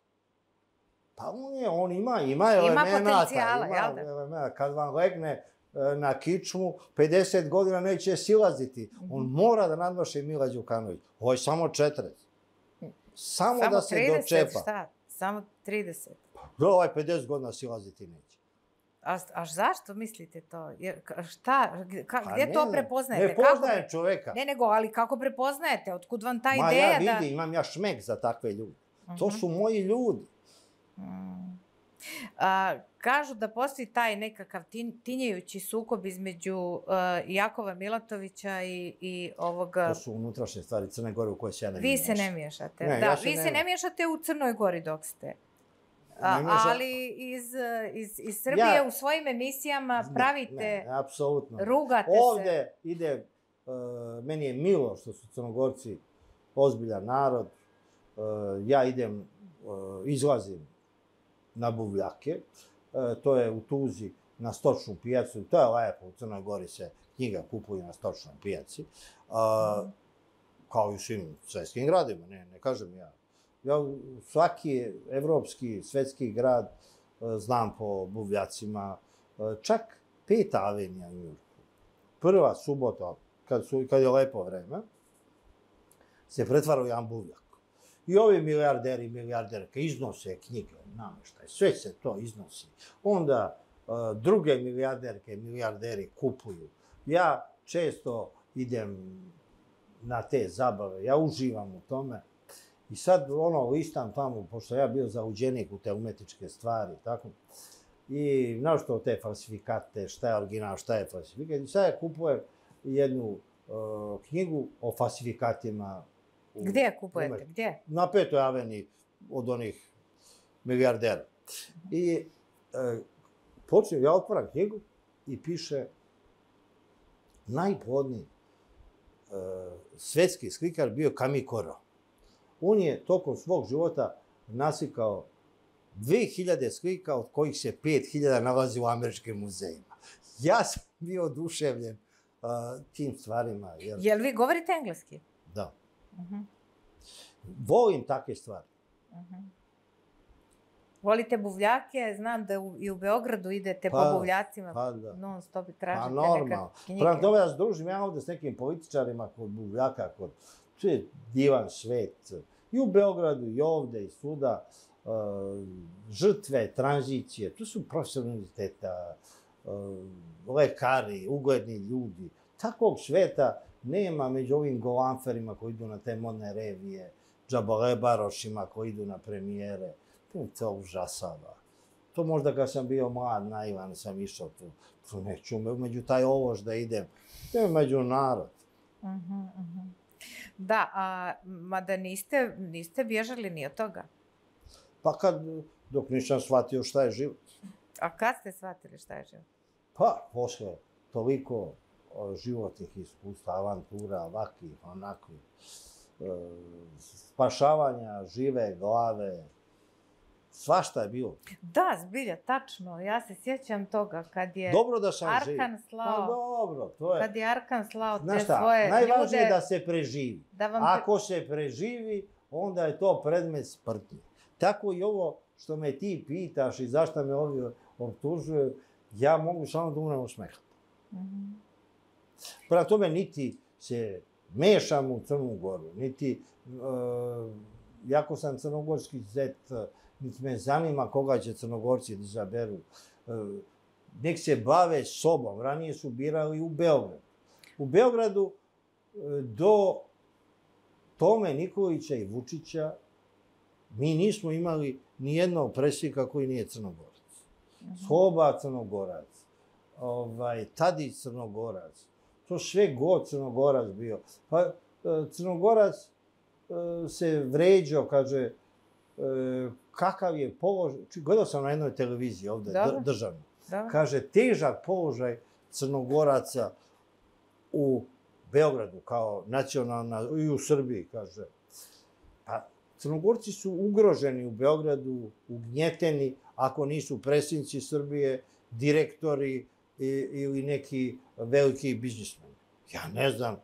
Pa on je, on ima, ima elemenata. Ima potencijala, jel da? Elemenata. Kad vam legne na kičmu, pedeset godina neće silaziti. On mora da nadmaši Mila Đukanović. Ovo je samo četrdeset. Samo da se dočepa. Samo trideset, šta? Samo trideset. Da, ovaj pedeset godina silaziti neće. A, a zašto mislite to? Jer, šta? Ka, Pa gdje ne, to prepoznajete? Ne poznajem čoveka. Ne, nego, ali kako prepoznajete? Otkud vam ta Ma ideja ja da... vidim, imam ja šmek za takve ljude. To su moji ljudi. A, kažu da postoji taj nekakav tin, tinjajući sukob između uh, Jakova Milatovića i, i ovog... To su unutrašnje stvari Crne Gore u koje se ja ne Vi miješam. se ne miješate. Ne, da, ja se vi ne... se ne miješate u Crnoj Gori dok ste. A, ali iz, iz, iz Srbije ja... u svojim emisijama pravite... Ne, ne, apsolutno. Rugate Ovde se. Ovde ide... Uh, meni je milo što su Crnogorci ozbiljan narod. Uh, ja idem, uh, izlazim na buvljake. Uh, to je u Tuzi na stočnu pijacu. To je lepo. U Crnoj Gori se knjiga kupuje na stočnoj pijaci. Uh, mm. Kao i u svim svetskim gradima. Ne, ne kažem ja. Ja svaki evropski, svetski grad znam po buvljacima. Čak Peta avenija u Njujorku. Prva subota, kad, su, kad je lepo vreme, se pretvara u jedan buvljak. I ovi milijarderi i milijarderke iznose knjige, nameštaj, sve se to iznosi. Onda uh, druge milijarderke i milijarderi kupuju. Ja često idem na te zabave, ja uživam u tome. I sad, ono, listam tamo, pošto ja bio zaluđenik u te umetničke stvari, tako, i našto te falsifikate, šta je original, šta je falsifikat, i sad ja kupujem jednu uh, knjigu o falsifikatima. U, Gdje je kupujete? Umet... Gdje? Na Petoj aveniji od onih milijardera. I uh, počnem, ja otvoram knjigu i piše najplodniji uh, svetski slikar bio Camille Corot. On je tokom svog života naslikao dve hiljade slika, od kojih se pet hiljada nalazi u američkim muzejima. Ja sam bio oduševljen uh, tim stvarima. Jer... Jel vi govorite engleski? Da. Uh-huh. Volim takve stvari. Uh-huh. Volite buvljake, znam da u, i u Beogradu idete pa, po buvljacima, pa da. non stop i tražite pa, normalno. neka knjige. Prema tome ja se družim ja ovde s nekim političarima kod buvljaka, kod... To je divan svet. I u Beogradu, i ovde, i svuda. Uh, žrtve, tranzicije, to su profesori univerziteta, uh, lekari, ugledni ljudi. Takvog sveta nema među ovim golanferima koji idu na te modne revije, džabalebarošima koji idu na premijere. To mi to užasava. To možda kad sam bio mlad, naivan, sam išao tu. Tu neću među taj ološ da idem. To je među narod. Uh-huh, uh-huh. Da, a mada niste, niste bježali ni od toga? Pa kad, dok nisam shvatio šta je život. A kad ste shvatili šta je život? Pa, posle toliko o, životnih iskustva, avantura, ovakvih, onakvih, e, spašavanja žive glave, svašta je bilo. Da, zbilja, tačno. Ja se sjećam toga kad je dobro da sam Arkan živ. slao... Pa dobro, to je... Kad je Arkan slao te Znaš šta, svoje ljude... najvažnije je da se preživi. Da vam... Ako se preživi, onda je to predmet smrti. Tako i ovo što me ti pitaš i zašto me ovi optužuju, ja mogu samo da umrem u smehu. Mm-hmm. Prema tome, niti se mešam u Crnu Goru, niti, uh, jako sam crnogorski zet, niti me zanima koga će Crnogorci da izaberu. Uh, nek se bave sobom. Ranije su birali u Beogradu. U Beogradu uh, do Tome Nikolića i Vučića mi nismo imali ni jednog predsjednika koji nije Crnogorac. Mm-hmm. Sloba Crnogorac, ovaj, Tadić Crnogorac, to sve god Crnogorac bio. Pa Crnogorac se vređao, kaže, kakav je položaj, gledao sam na jednoj televiziji ovde, Dobre. državno, Dobre. kaže, težak položaj Crnogoraca u Beogradu, kao nacionalna, i u Srbiji, kaže. Pa, Crnogorci su ugroženi u Beogradu, ugnjeteni, ako nisu predsjednici Srbije, direktori i, ili neki veliki biznismeni. Ja ne znam,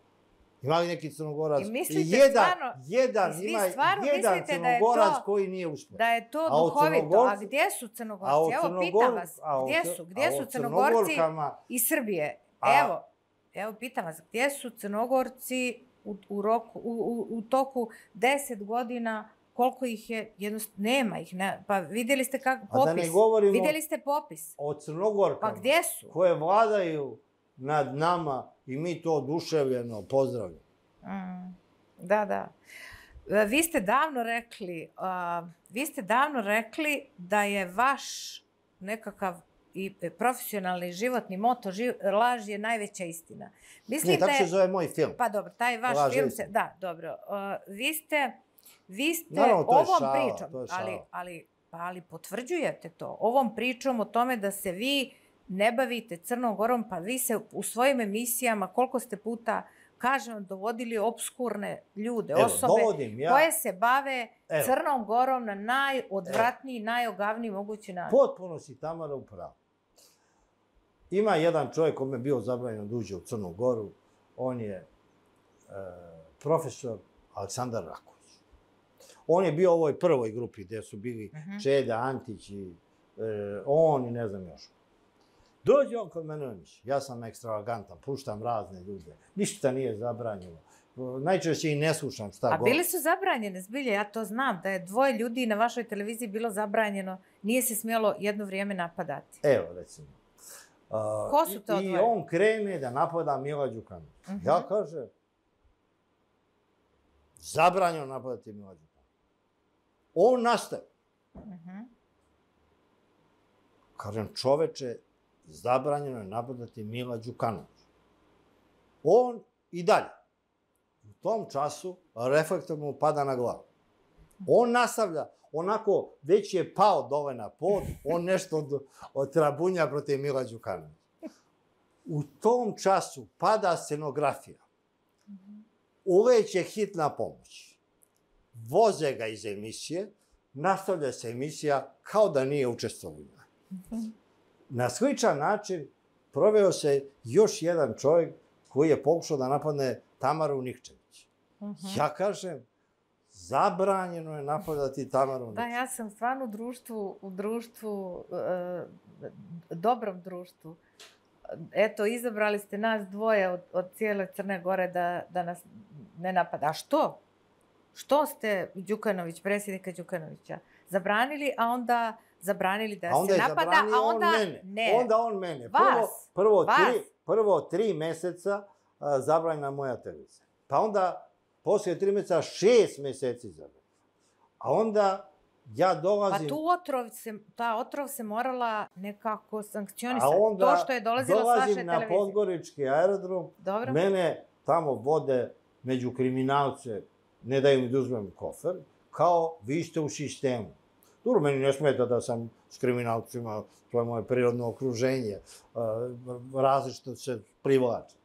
Ima li neki Crnogorac? I mislite jedan, stvarno, jedan, i vi ima stvarno jedan mislite da je Crnogorac to- koji nije uspio. Da je to A o duhovito. Crnogorcu- A gdje su Crnogorci? a o Evo, Crnogor- pitam vas, a o gdje Cr- su? a Gdje o su Crnogorci Crnogorkama- iz Srbije? A- Evo, evo, pitam vas, gdje su Crnogorci u, u, roku, u, u, u toku deset godina, koliko ih je, jednostavno, nema ih, ne, pa vidjeli ste kako popis, A da ne govorimo vidjeli ste popis, o Crnogorkama pa gdje su? koje vladaju nad nama i mi to oduševljeno pozdravljamo. Mm, da, da. E, Vi ste davno rekli, uh, vi ste davno rekli da je vaš nekakav i profesionalni životni moto, živ, laž je najveća istina. Mislite, Ne, tako se zove moj film. pa dobro, taj vaš Laž je film se, istina. da, dobro. Uh, vi ste, vi ste Naravno, to je ovom šala, pričom, to je šala. ali, ali, pa, ali potvrđujete to, ovom pričom o tome da se vi ne bavite Crnom Gorom, pa vi se u svojim emisijama, koliko ste puta, kažem, dovodili obskurne ljude, Evo, osobe dovodim ja- koje se bave Evo. Crnom Gorom na najodvratniji, najogavniji mogući način. Potpuno si, Tamara, u pravu. Ima jedan čovjek kome je bio zabranjeno da uđe u Crnu Goru. On je e, profesor Aleksandar Raković. On je bio u ovoj prvoj grupi gdje su bili Mhm. Čeda, Antić i e, on i ne znam još. Dođe on kod mene u emisiju. Ja sam ekstravagantan, puštam razne ljude. Ništa nije zabranjeno. Najčešće i ne slušam šta A govori. bili su zabranjene, zbilje, ja to znam, da je dvoje ljudi na vašoj televiziji bilo zabranjeno, nije se smjelo jedno vrijeme napadati. Evo, recimo. Uh, Ko su to I dvoje? on krene da napada Mila Đukanovića. Mhm. Ja kažem, zabranjeno napadati Mila Đukanovića. On nastaje. Mhm. Kažem, čoveče, zabranjeno je napadati Mila Đukanovića. On i dalje. U tom času reflektor mu pada na glavu. On nastavlja, onako, već je pao dole na pod, on nešto od, od trabunja protiv Mila Đukanovića. U tom času pada scenografija. Uleće hitna pomoć. Voze ga iz emisije, nastavlja se emisija kao da nije učestvovao. Na sličan način proveo se još jedan čovjek koji je pokušao da napadne Tamaru Nikčević. Ja kažem, zabranjeno je napadati Tamaru Da, Nikčević. ja sam stvarno u društvu, u društvu, e, dobrom društvu. Eto, izabrali ste nas dvoje od, od cijele Crne Gore da, da nas ne napada. A što? Što ste Đukanović, predsjednika Đukanovića, zabranili, a onda zabranili da A onda se je napada, zabranio a onda on mene. ne. Onda on mene. Prvo, Vas. prvo, Vas. tri, prvo tri meseca a, zabranjena moja televizija. Pa onda, poslije tri meseca, šest meseci zabranjena. A onda ja Pa dolazim... tu otrov se, ta otrov se morala nekako a sankcionisati. onda To što je dolazilo s vaše dolazim na televizije. Podgorički aerodrom, Dobro. mene tamo vode među kriminalce, ne daju mi da uzmem kofer, kao vi ste u sistemu. Dobro, meni ne smeta da sam s kriminalcima, to je moje prirodno okruženje, različito se privlače.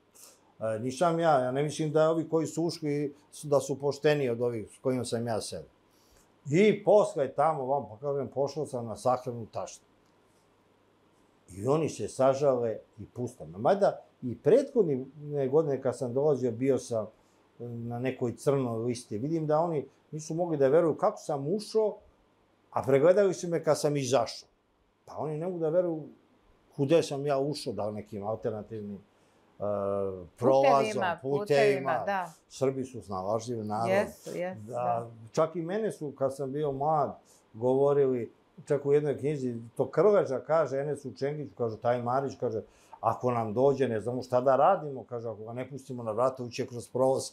Nisam ja, ja ne mislim da ovi koji su ušli da su pošteniji od ovih s kojima sam ja sebi. I posle tamo vam, pa kažem, pošao sam na sahranu taštu. I oni se sažale i puste me. Mada i prethodne godine kad sam dolazio, bio sam na nekoj crnoj listi. Vidim da oni nisu mogli da veruju kako sam ušao, a pregledali su me kad sam izašao. Pa oni ne mogu da veruju kude sam ja ušao, da li nekim alternativnim uh, prolazom, Putevima, putevima. putevima, da. Srbi su snalažljivi narod. Jesu, jesu, Da, da. čak i mene su, kad sam bio mlad, govorili, čak u jednoj knjizi, to Krleža kaže, Enesu Čengiću, kaže, taj Marić, kaže, ako nam dođe, ne znamo šta da radimo, kaže, ako ga ne pustimo na vrata, uće kroz prolaz.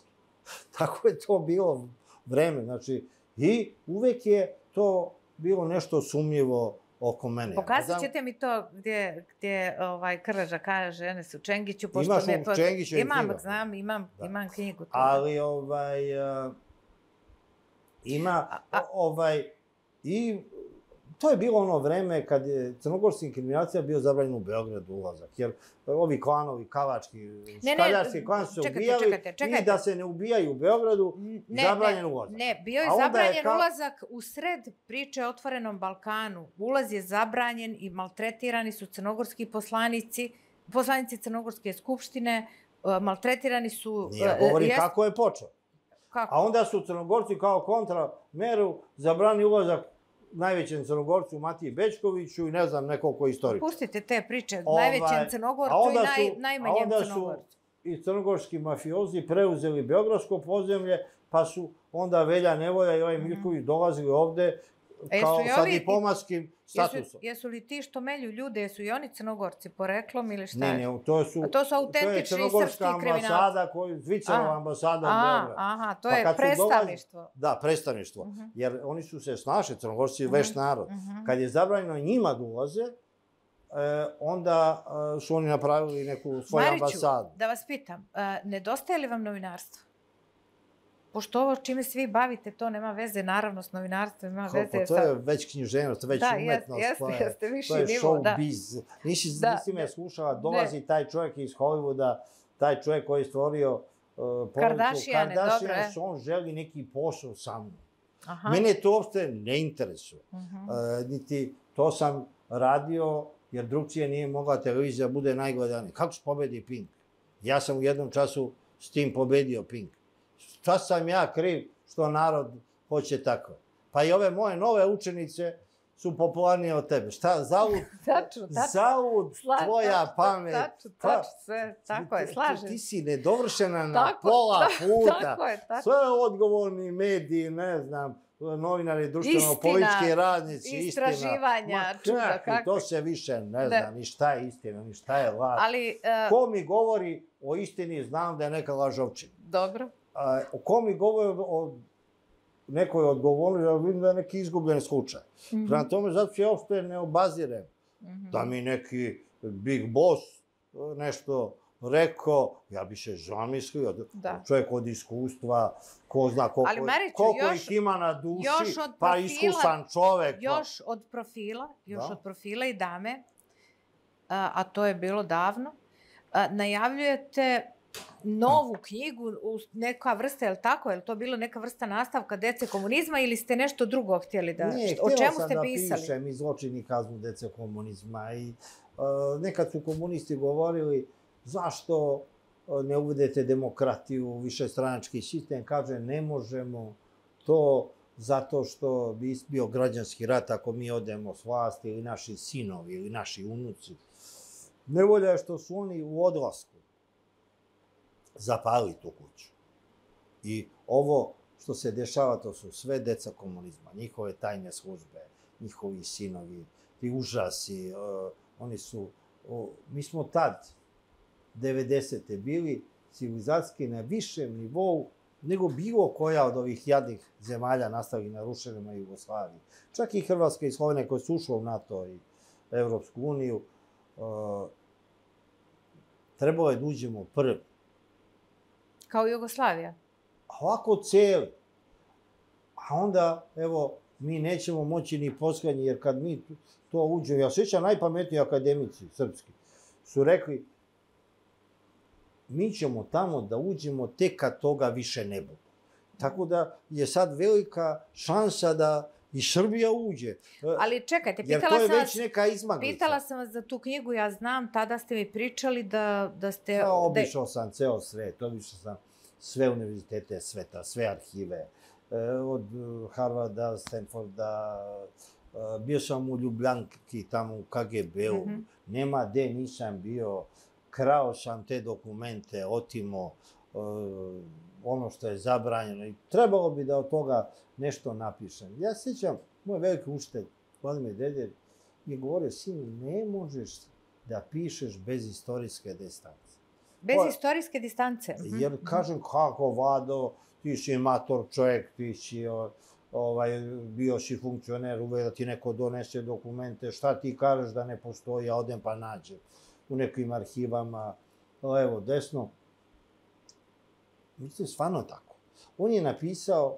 Tako je to bilo vreme, znači, i uvek je to bilo nešto sumnjivo oko mene. Pokazat ćete mi to gdje, gdje ovaj, Krleža kaže Enesu Čengiću. Pošto Imaš me, u Čengićevim Imam, knjigama. znam, imam, Da. imam knjigu. Tu. Ali, ovaj, uh, ima, A- a- ovaj, i to je bilo ono vreme kad je crnogorskim kriminalcima bio zabranjen u Beogradu ulazak, jer ovi klanovi, kavački, ne, škaljarski klan su se čekajte, ubijali čekajte, čekajte. i da se ne ubijaju u Beogradu, Ne, zabranjen ne, ulazak. Ne, bio je A onda je zabranjen kao- ulazak u sred priče o Otvorenom Balkanu. Ulaz je zabranjen i maltretirani su crnogorski poslanici, poslanici Crnogorske skupštine maltretirani su... Ja govorim jest... kako je počeo. Kako? A onda su Crnogorci kao kontrameru zabrani ulazak najvećem Crnogorcu Matiji Bećkoviću i ne znam nekoliko istorika. Pustite te priče, Ovaj, najvećem Crnogorcu i naj, najmanjem Crnogorcu. A onda su i crnogorski mafiozi preuzeli beogradsko podzemlje, pa su onda Velja Nevolja i ovaj Mirković dolazili ovde kao sa diplomatskim statusom. Jesu, jesu li ti što melju ljude, jesu i oni Crnogorci poreklom ili šta ne, je? Ne, ne, to su, A to su autentični srpski kriminalci. To je crnogorska ambasada, koju, Zvicerova ambasada u Beogradu. Aha, to je predstavništvo. Dolazi, da, predstavništvo. Uh -huh. Jer oni su se snašli, Crnogorci je veš narod. Uh -huh. Kad je zabranjeno njima da ulaze, E, onda e, su oni napravili neku svoju Mariću, ambasadu. Da vas pitam, e, nedostaje li vam novinarstvo? Pošto ovo čime svi bavite, to nema veze naravno s novinarstvom, ima Kako, veze to sa... je već književnost, već da, umetnost. Jeste, to je, jeste, viši to je nivo, show da. biz. Nisi, da, nisi me ne. slušala, dolazi ne. taj čovjek iz Hollywooda, taj čovjek koji je stvorio uh, Kardashiane, dobro, e. on želi neki posao sa mnom. Aha. Mene to uopšte ne interesuje. Uh -huh. uh, niti to sam radio jer drugčije nije mogla televizija da bude najgledanija. Kako se pobedi Pink? Ja sam u jednom času s tim pobedio Pink. Šta sam ja kriv što narod hoće tako? Pa i ove moje nove učenice su popularnije od tebe. Šta, zaud, tačno, tačno. zaud tvoja tačno, pamet. Tačno, tačno, sve, tako je, slažem. Ti, ti si nedovršena na tako, pola da, puta. Tako je, tako. Sve odgovorni mediji, ne znam, novinari, društveno-politički radnici, istina. Istraživanja, čuda, kako. To se više ne zna, ni šta je istina, ni šta je laž. Ali, uh, ko mi govori o istini, znam da je neka lažovčina. Dobro. Uh, ko mi govori o nekoj odgovornosti, ja vidim da je neki izgubljen slučaj. Mm -hmm. Prema tome, zato se ja uopšte ne obazirem mm -hmm. da mi neki big boss nešto rekao, ja bi se zamislio, da. Čovjek od iskustva, ko zna koliko, Ali, Mariću, koliko još, ih ima na duši, profila, pa iskusan čovek. Još od profila, još da. od profila i dame, a, a to je bilo davno, a, najavljujete novu knjigu, neka vrsta, je li tako? Je li to bilo neka vrsta nastavka dece komunizma ili ste nešto drugo htjeli da... Ne, o čemu ste da pisali? pišem i zločini kaznu dece komunizma. I, uh, nekad su komunisti govorili zašto ne uvedete demokratiju, višestranački sistem. Kaže, ne možemo to zato što bi bio građanski rat ako mi odemo s vlasti ili naši sinovi ili naši unuci. Nevolja je što su oni u odlasku zapali tu kuću. I ovo što se dešava, to su sve deca komunizma, njihove tajne službe, njihovi sinovi, ti užasi, uh, oni su... Uh, mi smo tad, devedesete bili civilizacijski na višem nivou nego bilo koja od ovih jadnih zemalja nastali na rušenima Jugoslaviji. Čak i Hrvatska i Slovenija koje su ušle u NATO i Evropsku uniju, uh, trebalo je da uđemo prvi. Kao Jugoslavija? A ovako cijeli. A onda, evo, mi nećemo moći ni poslednji, jer kad mi to uđemo, ja sjećam najpametniji akademici srpski, su rekli, mi ćemo tamo da uđemo tek kad toga više ne bude. Tako da je sad velika šansa da i Srbija uđe. Ali čekajte, pitala sam vas... Jer to je već neka izmaglica. Pitala sam vas za tu knjigu, ja znam, tada ste mi pričali da, da ste... Ja, obišao sam ceo svet, obišao sam sve univerzitete sveta, sve arhive, od Harvarda, Stanforda, bio sam u Ljubljanki, tamo u K G B-u, mm -hmm. nema gde nisam bio, krao sam te dokumente, otimo ono što je zabranjeno i trebalo bi da od toga nešto napišem. Ja sjećam, moj veliki učitelj, Vladimir Dedjer, mi je govorio, sin, ne možeš da pišeš bez istorijske distance. Bez o, istorijske distance? Jer kažem, kako, Vlado, ti si mator čovjek, ti si ovaj, bio si funkcioner, uvek da ti neko donese dokumente, šta ti kažeš da ne postoji, ja odem pa nađem u nekim arhivama, levo, desno. Mislim, stvarno tako. On je napisao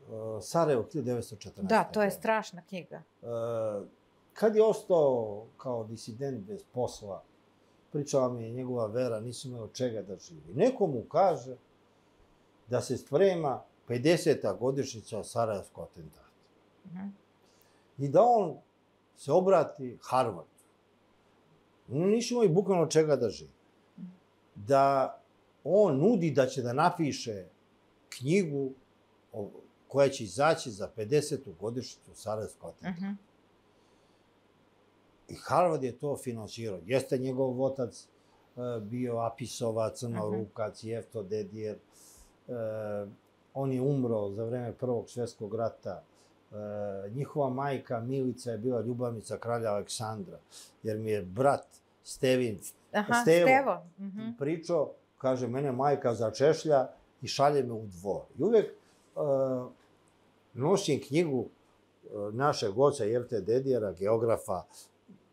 uh, Sarajevo hiljadu devetsto četrnaeste. Da, to je strašna knjiga. Uh, kad je ostao kao disident bez posla, pričala mi je njegova vera, nisu imali od čega da živi. Neko mu kaže da se sprema pedeseta godišnjica Sarajevskog atentata. Uh -huh. I da on se obrati Harvardu. Oni nisu imali bukvalno od čega da živi. da on nudi da će da napiše knjigu koja će izaći za pedesetu godišnjicu Sarajevskog atentata. I Harvard je to finansirao. Jeste njegov otac bio Apisova, Crnorukac, Jefto Dedijer. On je umro za vreme Prvog svjetskog rata. Njihova majka Milica je bila ljubavnica kralja Aleksandra, jer mi je brat Stevin, Stevo, pričao, kaže, mene majka začešlja i šalje me u dvor. I uvek nosim knjigu našeg oca Jefte Dedijera, geografa,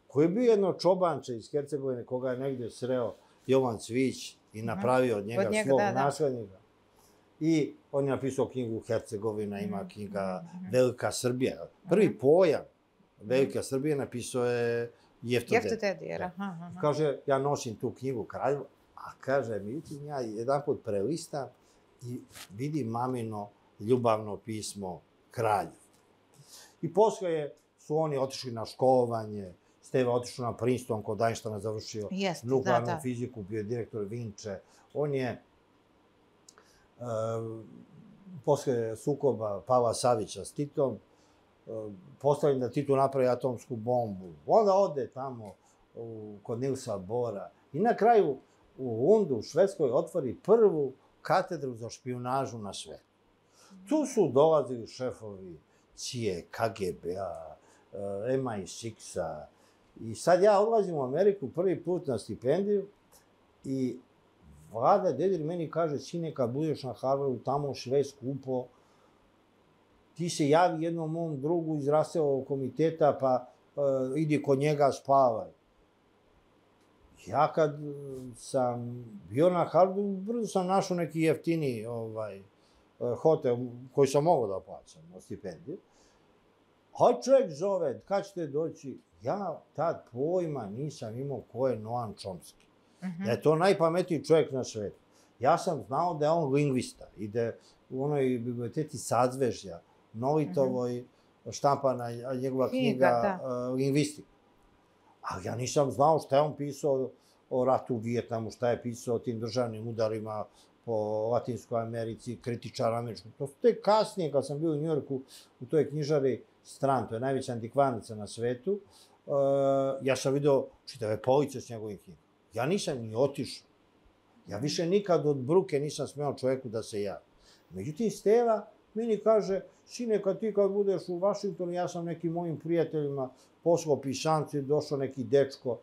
koji je bio jedno čobanče iz Hercegovine, koga je negdje sreo Jovan Cvić i napravio od njega svog naslednika. I on je napisao knjigu Hercegovina, ima knjiga Velika Srbija. Prvi pojam Velika Srbija napisao je Jefto Dedijer. Kaže, ja nosim tu knjigu kralju, a kaže, međutim, ja jedan put prelistam i vidim mamino ljubavno pismo kralju. I posle su oni otišli na školovanje, Steva otišao na Princeton, kod Einsteina završio nuklearnu fiziku, bio je direktor Vinče. On je posle sukoba Pavla Savića s Titom postavljen da Tito napravi atomsku bombu. Onda ode tamo kod Nilsa Bora i na kraju u Lundu, u Švedskoj, otvori prvu katedru za špijunažu na svetu. Tu su dolazili šefovi C I A, K G B-a, M I šest-a. I sad ja odlazim u Ameriku prvi put na stipendiju i Vlada Dedijer meni kaže, sine, kad budeš na Harvardu, tamo sve skupo, ti se javi jednom mom drugu iz Raselovog komiteta, pa idi kod njega spavaj. Ja kad sam bio na Harvardu, brzo sam našao neki jeftini hotel koji sam mogao da plaćam na stipendiju. A čovjek zove, kad ćete doći? Ja tad pojma nisam imao ko je Noam Chomsky. Da je to najpametniji čovjek na svetu. Ja sam znao da je on lingvista i da je u onoj biblioteci Sadzvežja, Novitovoj, štampana njegova knjiga Lingvistika. Ali ja nisam znao šta je on pisao o ratu u Vijetnamu, šta je pisao o tim državnim udarima po Latinskoj Americi, kritičar američkog. To su tek kasnije, kad sam bio u Njujorku, u toj knjižari Strand, to je najveća antikvarnica na svetu, ja sam vidio čitave police s njegovim knjigama. Ja nisam ni otišao. Ja više nikad od bruke nisam smeo čovjeku da se javi. Međutim, Steva meni kaže, sine, kad ti kad budeš u Vašingtonu, ja sam nekim mojim prijateljima poslao pisanci, došao neki dečko,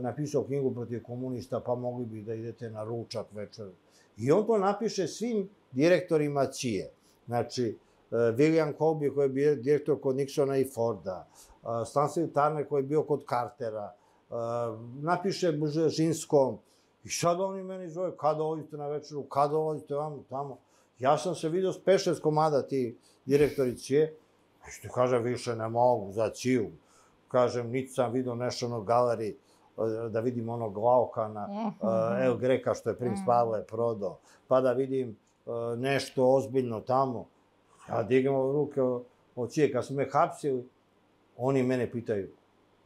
napisao knjigu protiv komunista, pa mogli bi da idete na ručak večer. I on to napiše svim direktorima C I A. Znači, William Colby, koji je bio direktor kod Nixona i Forda, Stanley Turner, koji je bio kod Cartera, napiše Bržežinskom. I sad oni meni zove, kada odite na večeru, kada odite vamo, tamo. Ja sam se vidio s pet šest komada ti direktori C I A. I što kažem, više ne mogu za C I A-u. Kažem, niti sam vidio nešto na galeriji, da vidim onog Laokana, El Greka, što je princ Pavle prodao, pa da vidim nešto ozbiljno tamo. Ja digam ruke od C I A. Kad su me hapsili, oni mene pitaju,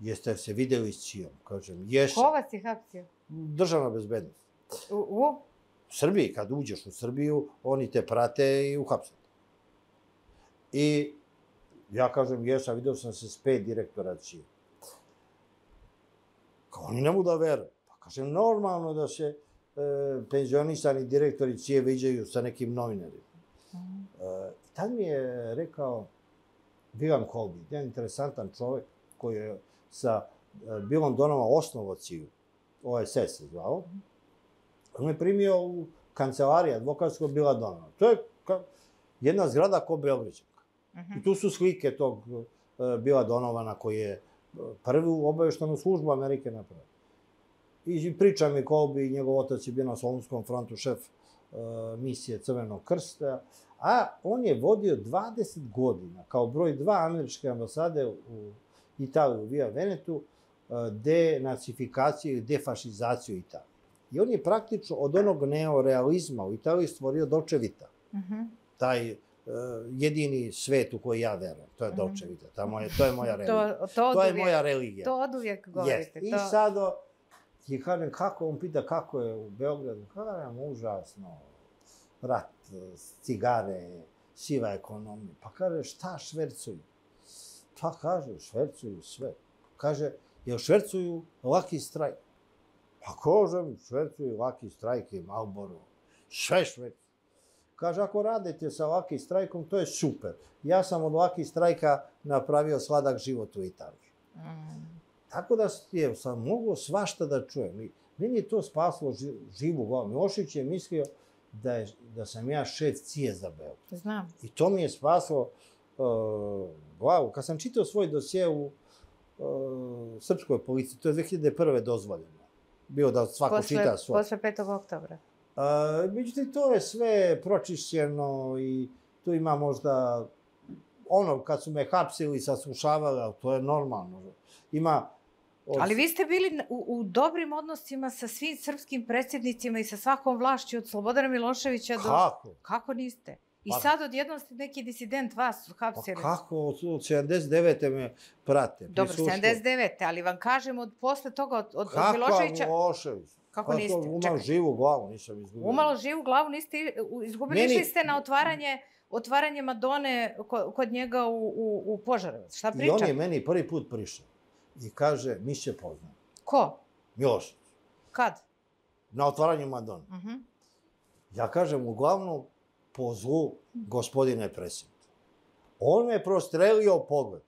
jeste se videli s C I A-om? Kažem, jesam. Ko vas je hapsio? Državna bezbednost. U? U Srbiji, kad uđeš u Srbiju, oni te prate i uhapse. I ja kažem, jesam, vidio sam se s pet direktora C I A. Kao oni ne mogu da veruju. Pa kažem, normalno da se penzionisani direktori C I A viđaju sa nekim novinarima. I tad mi je rekao William Colby, jedan interesantan čovjek koji je sa Billom Donovom osnovao C I A, O S S se zvao. On me primio u kancelariji advokatskog Billa Donova. To je jedna zgrada ko Beograđanka. I tu su slike tog Billa Donovana koji je prvu obaveštanu službu Amerike napravio. I priča mi Colby, njegov otac je bio na Solunskom frontu, šef misije Crvenog krsta, a on je vodio dvadeset godina kao broj dva američke ambasade u Italiji, u Via Venetu, denacifikacije i defašizaciju Italije. I on je praktično od onog neorealizma u Italiji stvorio Dolce Vita. Taj jedini svet u koji ja verujem. To je Dolce Vita. To je moja religija. To je moja religija. To od uvijek govorite. I sad I kažem, kako, on pita kako je u Beogradu. Kažem, užasno, rat, cigare, siva ekonomija. Pa kaže, šta švercuju? Pa kaže, švercuju sve. Kaže, jel švercuju Lucky Strike? Pa kažem, švercuju Lucky Strike i Marlboro. Sve švercuju. Kaže, ako radite sa Lucky Strikeom, to je super. Ja sam od Lucky Strike-a napravio sladak život u Italiji. Mm. Tako da je, sam mogu svašta da čujem. Meni je to spaslo živu glavu. Milošević je mislio da, je, da sam ja šef C I E za Beograd. Znam. I to mi je spaslo uh, glavu. Kad sam čitao svoj dosje u uh, srpskoj policiji, to je dve hiljade prve dozvoljeno. Bio da svako posle, čita svoj. Posle petog oktobra. Uh, međutim, to je sve pročišćeno i tu ima možda ono, kad su me hapsili, saslušavali, to je normalno. Ima... Od... Ali vi ste bili u, u dobrim odnosima sa svim srpskim predsjednicima i sa svakom vlašću od Slobodana Miloševića do... Kako? Kako niste? I pa... sad odjednom ste neki disident vas hapsili. Pa kako? Od sedamdeset devete me prate. Dobro, sedamdeset devete ali vam kažem od posle toga, od, od, Kako od Miloševića... Kako Milošević? Kako pa niste? Umalo Čekaj. živu glavu, nisam izgubio. Umalo živu glavu niste izgubili, Meni... išli ste na otvaranje... otvaranje Madone kod njega u, u, u Požarevac. Šta pričam? I on je meni prvi put prišao i kaže, mi se poznamo. Ko? Milošević. Kad? Na otvaranju Madone. Uh -huh. Ja kažem, uglavnom, po zlu gospodine predsjedniče. On me prostrelio pogled.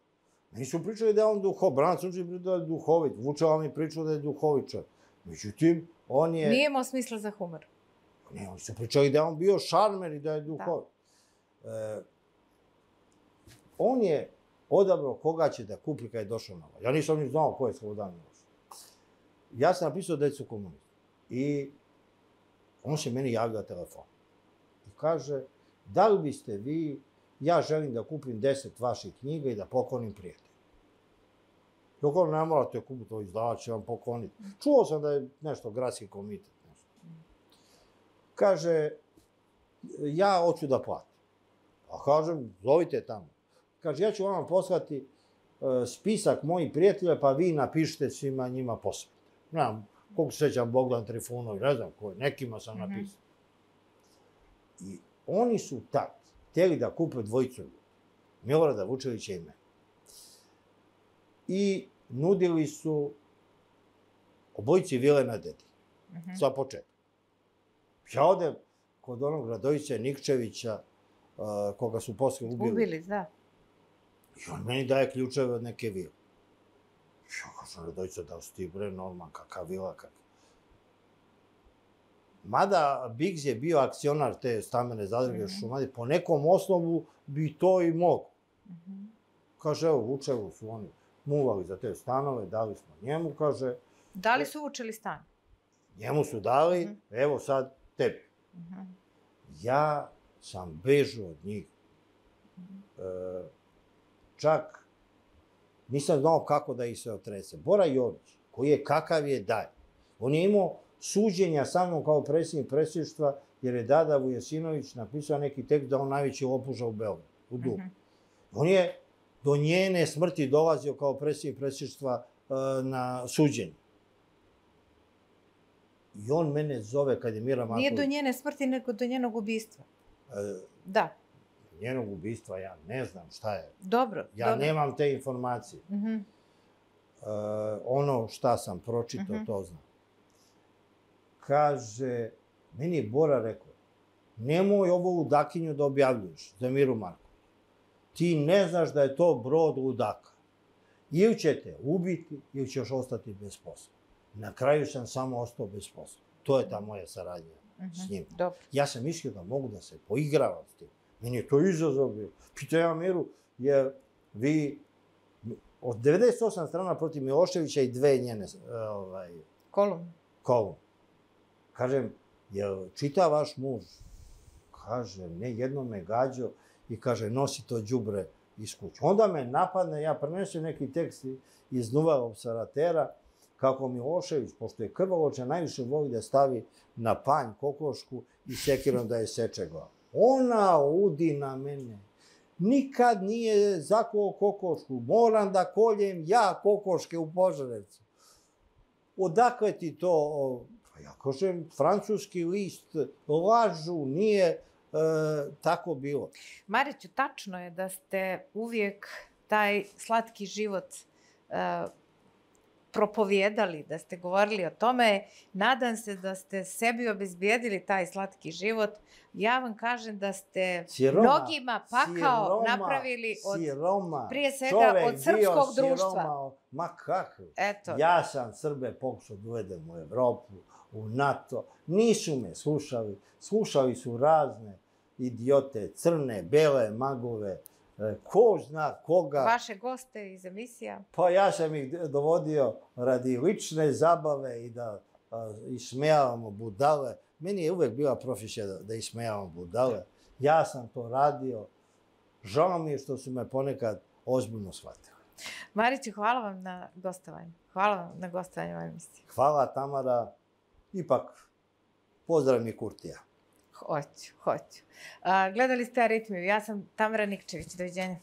Meni su pričali da je on duhovit, Branac učili da je duhovit, Vučeva mi pričao da je duhovit čovjek. Međutim, on je... Nije imao smisla za humor. Ne, oni su pričali da je on bio šarmer i da je duhovit. Da. E, on je odabrao koga će da kupi kad je došao na vlast. Ja nisam ni znao ko je Slobodan Milošević. Ja sam napisao da su komunisti. I on se meni javlja telefon. I kaže, da li biste vi, ja želim da kupim deset vaših knjiga i da poklonim prijatelju. Dok on ne morate kupiti, to izdavač će vam pokloniti. Čuo sam da je nešto gradski komitet. Nešto. Kaže, ja hoću da platim. A kažem, zovite tamo. Kaže, ja ću vam poslati uh, spisak mojih prijatelja, pa vi napišite svima njima posvete. Ne znam, koliko se sećam Bogdan Trifunović, ne znam koji, nekima sam napisao. Mm -hmm. I oni su tad htjeli da kupe dvojicu ljudi. Milorada Vučevića i mene. I nudili su obojici vile na Dedi. Mm -hmm. Za početak. Ja odem kod onog Radojića Nikčevića, Uh, koga su posle ubili. Ubili, da. I on meni daje ključeve od neke vile. Ja kažem, Radojica, da si ti bre norman, kakav vila, kakav. Mada Biggs je bio akcionar te stambene zadruge mm -hmm. Šumadije, po nekom osnovu bi to i mogo. Mm -hmm. Kaže, evo, Vučevu su oni muvali za te stanove, dali smo njemu, kaže... Da li su učili stan? Njemu su dali, mm -hmm. evo sad tebi. Mm -hmm. Ja sam bežao od njih. E, čak nisam znao kako da ih se otrese. Bora Jović, koji je kakav je daj. On je imao suđenja sa mnom kao predsjednik predsjedništva, jer je Dada Vujasinović napisao neki tekst da on najveći lopuža u Beogradu, u Dubu. Uh -huh. On je do njene smrti dolazio kao predsjednik predsjedništva e, na suđenje. I on mene zove kad je Mira Marković... Nije do njene smrti, nego do njenog ubistva. E, da. Njenog ubistva, ja ne znam šta je. Dobro. Ja dobro. nemam te informacije. Uh -huh. e, ono šta sam pročitao, uh -huh. to znam. Kaže, meni je Bora rekao, nemoj ovo ludakinju da objavljuješ za Miru Marković. Ti ne znaš da je to brod ludaka. Ili će te ubiti, ili ćeš ostati bez posla. Na kraju sam samo ostao bez posla. To je ta moja saradnja uh -huh. s njim. Dobro. Ja sam mislio da mogu da se poigravam s tim. Meni je to izazov bio. Pita ja Miru, jer vi od devedeset osam strana protiv Miloševića i dve njene ovaj, kolumne. Kolum. Kažem, jel čita vaš muž? Kaže, ne, jedno me gađo i kaže, nosi to đubre iz kuće. Onda me napadne, ja prenesem neki tekst iz Nova Observatera, kako Milošević, pošto je krvoloča, najviše voli da stavi na panj kokošku i sekirom da je seče glavu. Ona udi na mene. Nikad nije zakuo kokošku. Moram da koljem ja kokoške u Požarevcu. odakle ti to? Pa ja kažem, francuski list, lažu, nije e, tako bilo. Mariću, tačno je da ste uvijek taj slatki život e, propovjedali, da ste govorili o tome. Nadam se da ste sebi obezbijedili taj slatki život. Ja vam kažem da ste Siroma, mnogima pakao siroma, napravili od, siroma, prije svega čovek od srpskog bio društva. Siroma, ma kako? Eto. Ja sam Srbe pokušao da uvedem u Evropu, u NATO. Nisu me slušali. Slušali su razne idiote, crne, bele, magove, ko zna koga. Vaše goste iz emisija? Pa ja sam ih dovodio radi lične zabave i da a, ismejavamo budale. Meni je uvek bila profesija da, da ismejavamo budale. Ja sam to radio. Žao mi je što su me ponekad ozbiljno shvatili. Mariću, hvala vam na gostovanju. Hvala vam na gostovanju u ovoj emisiji. Hvala, Tamara. Ipak, pozdrav mi Kurtija. Hoću, hoću. A, gledali ste Aritmiju. Ja sam Tamara Nikčević. Doviđenja.